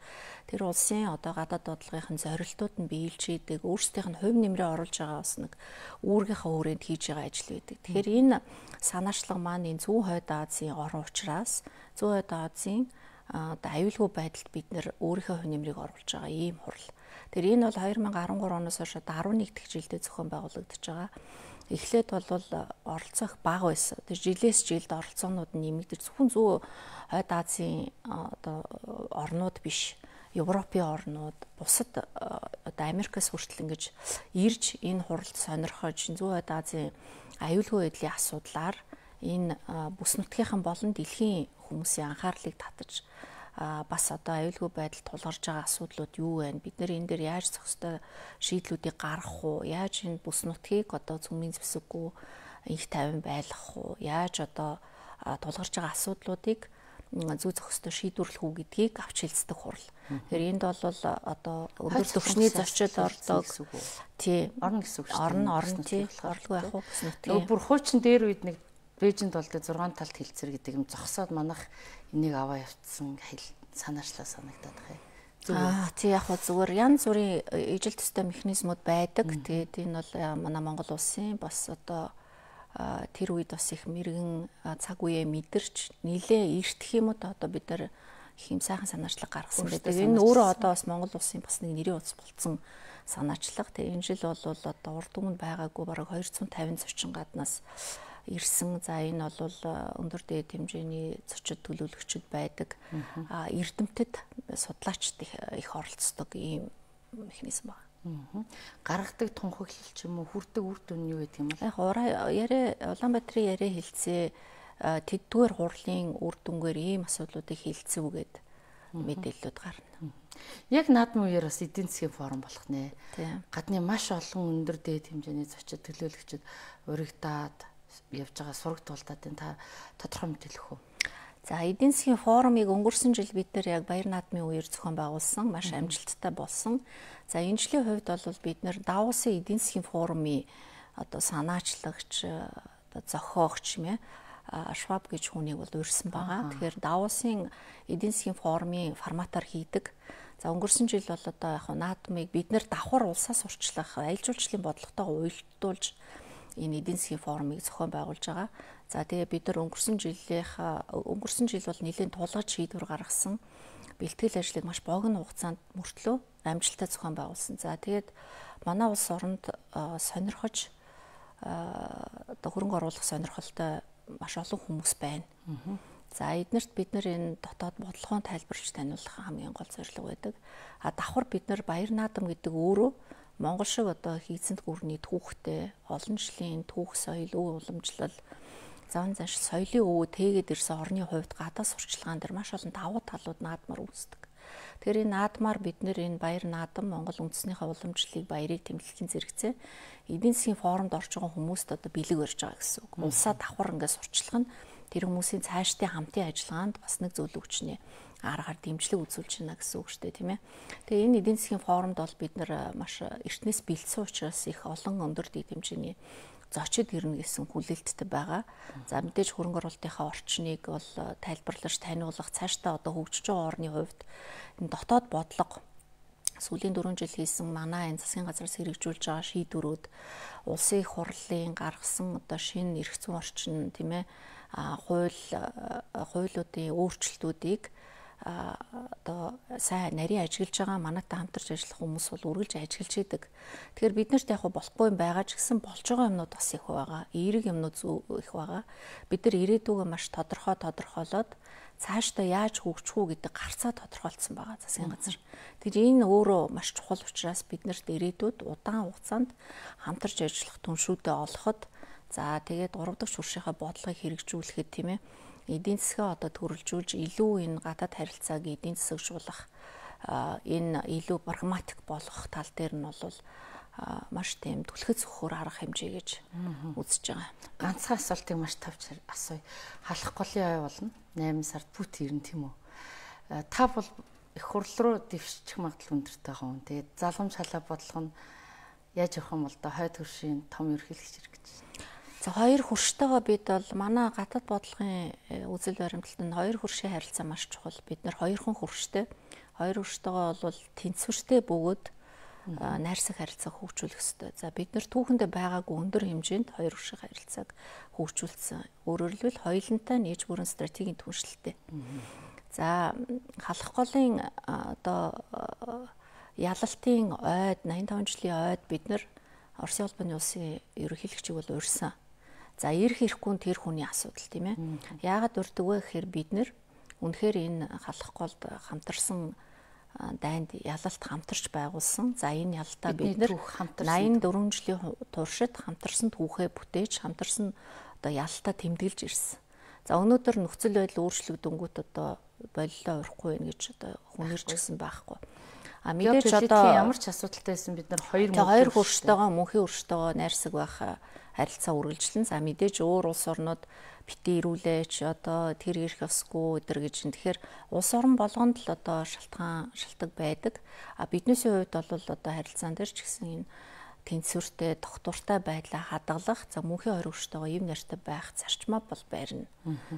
тэр улсын одоо гадаад бодлогын зорилтууд нь биелж идэг, өөрсдийнх нь хувь нэмрээ оруулж байгаа бас нэг үүргийнхаа хүрээнд хийж байгаа ажил байдаг. Тэгэхээр энэ санаачлага маань энэ Зүүн Хойд Азийн орн учраас Зүүн Хойд Азийн одоо аюулгүй байдалд бид нэр өөрийнхөө хувь нэмрийг оруулж байгаа ийм хурал. Тэр энэ бол хоёр мянган арван гурван оноос хойш арван нэг дахь жилдээ зохион байгуулагдаж байгаа. Эхлээд бол оролцох бага байсан. Тэр жилээс жилд оролцоонууд нэмэгдэж зөвхөн Зүүн Хойд Азийн одоо орнууд биш, Европын орнууд, бусад одоо Америкаас хүртэл ингэж ирж энэ хуралд сонирхож Зүүн Хойд Азийн аюулгүй байдлын асуудлаар энэ бүс нутгийнхан болон дэлхийн хүмүүсийн анхаарлыг татаж бас одоо аюулгүй байдал тулгарч байгаа асуудлууд юу вэ? Бид нэр энэ дээр яаж зохистой шийдлүүдийг гаргах уу? Яаж энэ бүс нутгийг одоо цөмийн зэвсэггүй их тайван байлгах уу? Яаж одоо тулгарч байгаа асуудлуудыг зүй зохистой шийдвэрлэх үү гэдгийг авч хэлцдэг хурал. Тэгэхээр энд бол одоо өндөр түвшний зочид ордог. Тий, орно гэсэн үг шүү дээ. Орно, орно тий. Орлого явах уу бүс нутгийн. Бүр хуучин дээр үед нэг Бээжинд бол тэ зургаан талт хилцэр гэдэг юм зогсоод манах энийг аваа явцсан санаачлаа санагдаад байна. Аа тий яг хөө зүгээр янз бүрийн ижил төстэй механизмуд байдаг. Тэгээд энэ бол манай Монгол улсын бас одоо тэр үед бас их мэрэгэн цаг үеэ мэдэрч нилээ эртх юм уу одоо бид нар их юм сайхан санаачлаг гаргасан байдаг. Энэ өөрөө одоо бас Монгол улсын бас нэг нэрийн утас болцсон санаачлага. Тэгээ энэ жил бол одоо урд өмнө байгаагүй бараг хоёр зуун тавин зочин гаднаас ирсэн. За энэ бол өндөр дээд хэмжээний зочид төлөөлөгчд байдаг. А эрдэмтэд судлаачд их оролцдог ийм механизм байна. Гаргадаг тунхаглал ч юм уу хүрдэг үр дүн нь юу гэдэг юм бэ? Яг ураа яриа Улаанбаатарын яриа хэлцээ тэддгээр хурлын үр дүнгээр ийм асуудлуудыг хэлцэв гэд мэдээлэлүүд гарна. Яг наадмын үеэр бас эдийн засгийн форум болох нэ. Гадны маш олон өндөр дээд хэмжээний зочид төлөөлөгчд урагдаад явж байгаа сураг туултаад энэ та тодорхой мэдээлэх үү? За эдийн засгийн форумыг өнгөрсөн жил бид нар яг баяр наадмын үеэр зохион байгуулсан, маш амжилттай болсон. За энэ жилийн хувьд бол бид нар Давосын эдийн засгийн форумын одоо санаачлагч, одоо зохиогч юм ээ Шваб гэж хүнийг бол урьсан байгаа. Тэгэхээр Давосын эдийн засгийн форумын форматаар хийдэг. За өнгөрсөн жил бол одоо яг наадмыг бид нар давхар улсаас урчлах, аялал жуулчлалын бодлоготойгоо уялдуулж энэ эдийн засгийн форумыг зохион байгуулж байгаа. За тэгээ бид нар өнгөрсөн жилийнхаа өнгөрсөн жил бол нэлээд тулгаж шийдвэр гаргасан. Бэлтгэл ажлыг маш богино хугацаанд мөртлөө амжилттай зохион байгуулсан. За тэгээд манай улс оронд сонирхож одоо хөрөнгө оруулах сонирхолтой маш олон хүмүүс байна. За эднэрт бид нар энэ дотоод бодлогоо тайлбарлаж таниулах хамгийн гол зорилго байдаг. А давхар бид нар баяр наадам гэдэг өөрөө Монгол шиг одоо хийцэнд гүрний түүхтэй, олон жилийн түүх соёл, өв уламжлал, зан заншил, соёлын өвөө тэгээд ирсэн орны хувьд гадаа сурчлагаан дээр маш олон давуу талууд наадмаар үүсдэг. Тэгэхээр энэ наадмаар бид нэр энэ баяр наадам Монгол үндэснийхээ уламжлалыг, баярыг тэмдэглэхийн зэрэгцээ эдийн засгийн форумд орж байгаа хүмүүст одоо бэлэг барьж байгаа гэсэн үг. Улсаа давхар ингээд сурчлах нь тэр хүмүүсийн цаашдын хамтын ажиллагаанд бас нэг зөвлөгөө хүчнээ аргаар дэмжлэг үзүүлж байна гэсэн үг шүү дээ, тийм ээ. Тэгээ энэ эдийн засгийн форумд бол бид нар маш эртнээс бэлдсэн учраас их олон өндөр дэд хэмжээний зочид ирнэ гэсэн хүлээлттэй байгаа. За мэдээж хөрөнгө оруулалтынхаа орчныг бол тайлбарлаж таниулах, цаашдаа одоо хөгжиж байгаа орны хувьд энэ дотоод бодлого сүүлийн дөрвөн жил хийсэн манай энэ засгийн газраас хэрэгжүүлж байгаа шийдвэрүүд, улсын их хурлын гаргасан одоо шинэ эрх зүйн орчин, тийм ээ, хууль хуулиудын өөрчлөлтүүдийг одоо сайн нарийн ажиглаж байгаа манайтай хамтарч ажиллах хүмүүс бол үргэлж ажиглаж идэг. Тэгэхээр бид нарт яг болохгүй юм байгаа ч гэсэн болж байгаа юмнууд бас их байгаа. Эерэг юмнууд их байгаа. Бид нар ирээдүгөө маш тодорхой тодорхойлоод цаашдаа яаж хөгжих үү гэдэг гарцаа тодорхойлцсон байгаа засгийн газар. Тэгэхээр энэ өөрөө маш чухал учраас бид нарт ирээдүйд удаан хугацаанд хамтарч ажиллах түншүүдэд олоход за тэгээд гурав дахь шүршийнхаа бодлогыг хэрэгжүүлэхэд тийм ээ эдийн засгаа одоо төрөлжүүлж илүү энэ гадаад харилцааг эдийн засагжуулах энэ илүү прагматик болгох тал дээр нь бол маш тийм түлхэц өгөхөр арга хэмжээ гэж үзэж байгаа. Ганцхан асуултыг маш тавч асууя. Халах голын ой болно. найман сард бүт ирнэ тийм үү? Та бол их хурл руу дэвшчих магадлал өндөртэй байгаа юм. Тэгээд залгамж халаа бодлого нь яаж явах юм бол да хойд хөршийн том ерөнхийлөгч ирэх гэж. За хоёр хөрштөөгөө бид бол манай гадаад бодлогын үзэл баримталтанд хоёр хөршийн харилцаа маш чухал. Бид нар хоёрхан хөрштэй. Хоёр хөрштөөгөө бол тэнцвэртэй бөгөөд найрсаг харилцааг хөгжүүлэх ёстой. За бид нар түүхэндээ байгаагүй өндөр хэмжээнд хоёр хөршийн харилцааг хөгжүүлсэн. Өөрөөр хэлбэл хоёулантай нээж бүрэн стратегийн түншлэлтэй. За халах голын одоо ялалтын ойд найман таван жилийн ойд бид нар Оросын улбаны улсын ерөнхийлөгчийг бол урьсан. За ирэх ирэхгүй тэр хүний асуудал тийм ээ. Яагаад урьдаг вэ гэхээр бид нэр үнэхээр энэ халах голд хамтарсан дайнд ялалт хамтарч байгуулсан. За энэ ялалтаа бид нэр найман дөрвөн жилийн туршид хамтарсан түүхээ бүтээж хамтарсан одоо ялалтаа тэмдэглэж ирсэн. За өнөөдөр нөхцөл байдал өөрчлөгдөнгүүт одоо болилоо урихгүй байх гэж одоо хүнэрч гисэн байхгүй. А мэдээж одоо ямар ч асуудалтай байсан бид нар хоёр хоёр хөрштөөгөө мөнхийн хөрштөөгөө найрсаг байх харилцаа үргэлжлэн. За мэдээж өөр улс орнууд бити ирүүлээч одоо тэр ирэх ёсгүй өдр гэж. Тэгэхээр улс орн болгонд л одоо шалтгаан шалтгаан байдаг. А биднээсийн хувьд бол одоо харилцаан дээр ч гэсэн энэ тэнцвэртэй, доктортой байдлаа хадгалах, за мөнхийн хориг өрштэйгоо юм нартай байх зарчмаа бол байрна.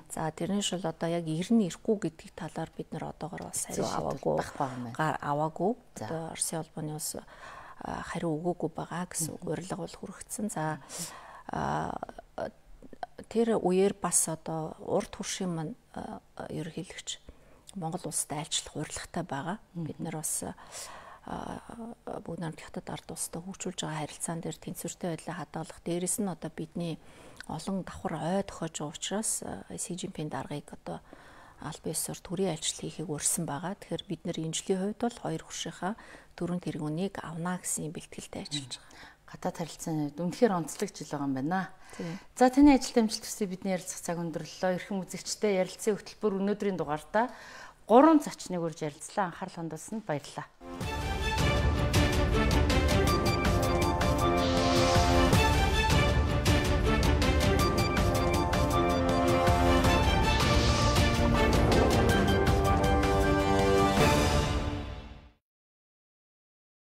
За тэрний шил одоо яг ирнэ ирэхгүй гэдгийг талаар бид нар одоогоор бас хариу аваагүй аваагүй. Одоо Оросын холбооны ус хариу өгөөгүй байгаа гэсэн үг урилга бол хүрэгдсэн. За тэр үеэр бас одоо урд хуршийн маань ерөнхийлөгч Монгол улсад айлчлах урилгатай байгаа. Бид нар бас бүгд намт хятад ард улстай хөгжүүлж байгаа харилцаан дээр тэнцвэртэй байдлаа хадгалах. Дээрэс нь одоо бидний олон давхар ой тохиож байгаа учраас Си Жинпингийн даргаыг одоо аль биесээр төрийн айлчлал хийхийг урьсан байгаа. Тэгэхээр бид нар энэ жилийн хувьд бол хоёр хуршийнхаа дөрвөн тэргүүнийг авна гэсэн бэлтгэлтэй ажиллаж байгаа. Гадаад харилцааны хувьд үнэхээр онцлог жил байгаа юм байна. За таны ажилд амжилт хүсье бидний ярилцах цаг өндөрлөө. Эрхэм үзэгчтэй ярилцсан хөтөлбөр өнөөдрийн дугаартаа гурван зочныг урьж ярилцлаа. Анхаарал хандуулсанд баярлалаа.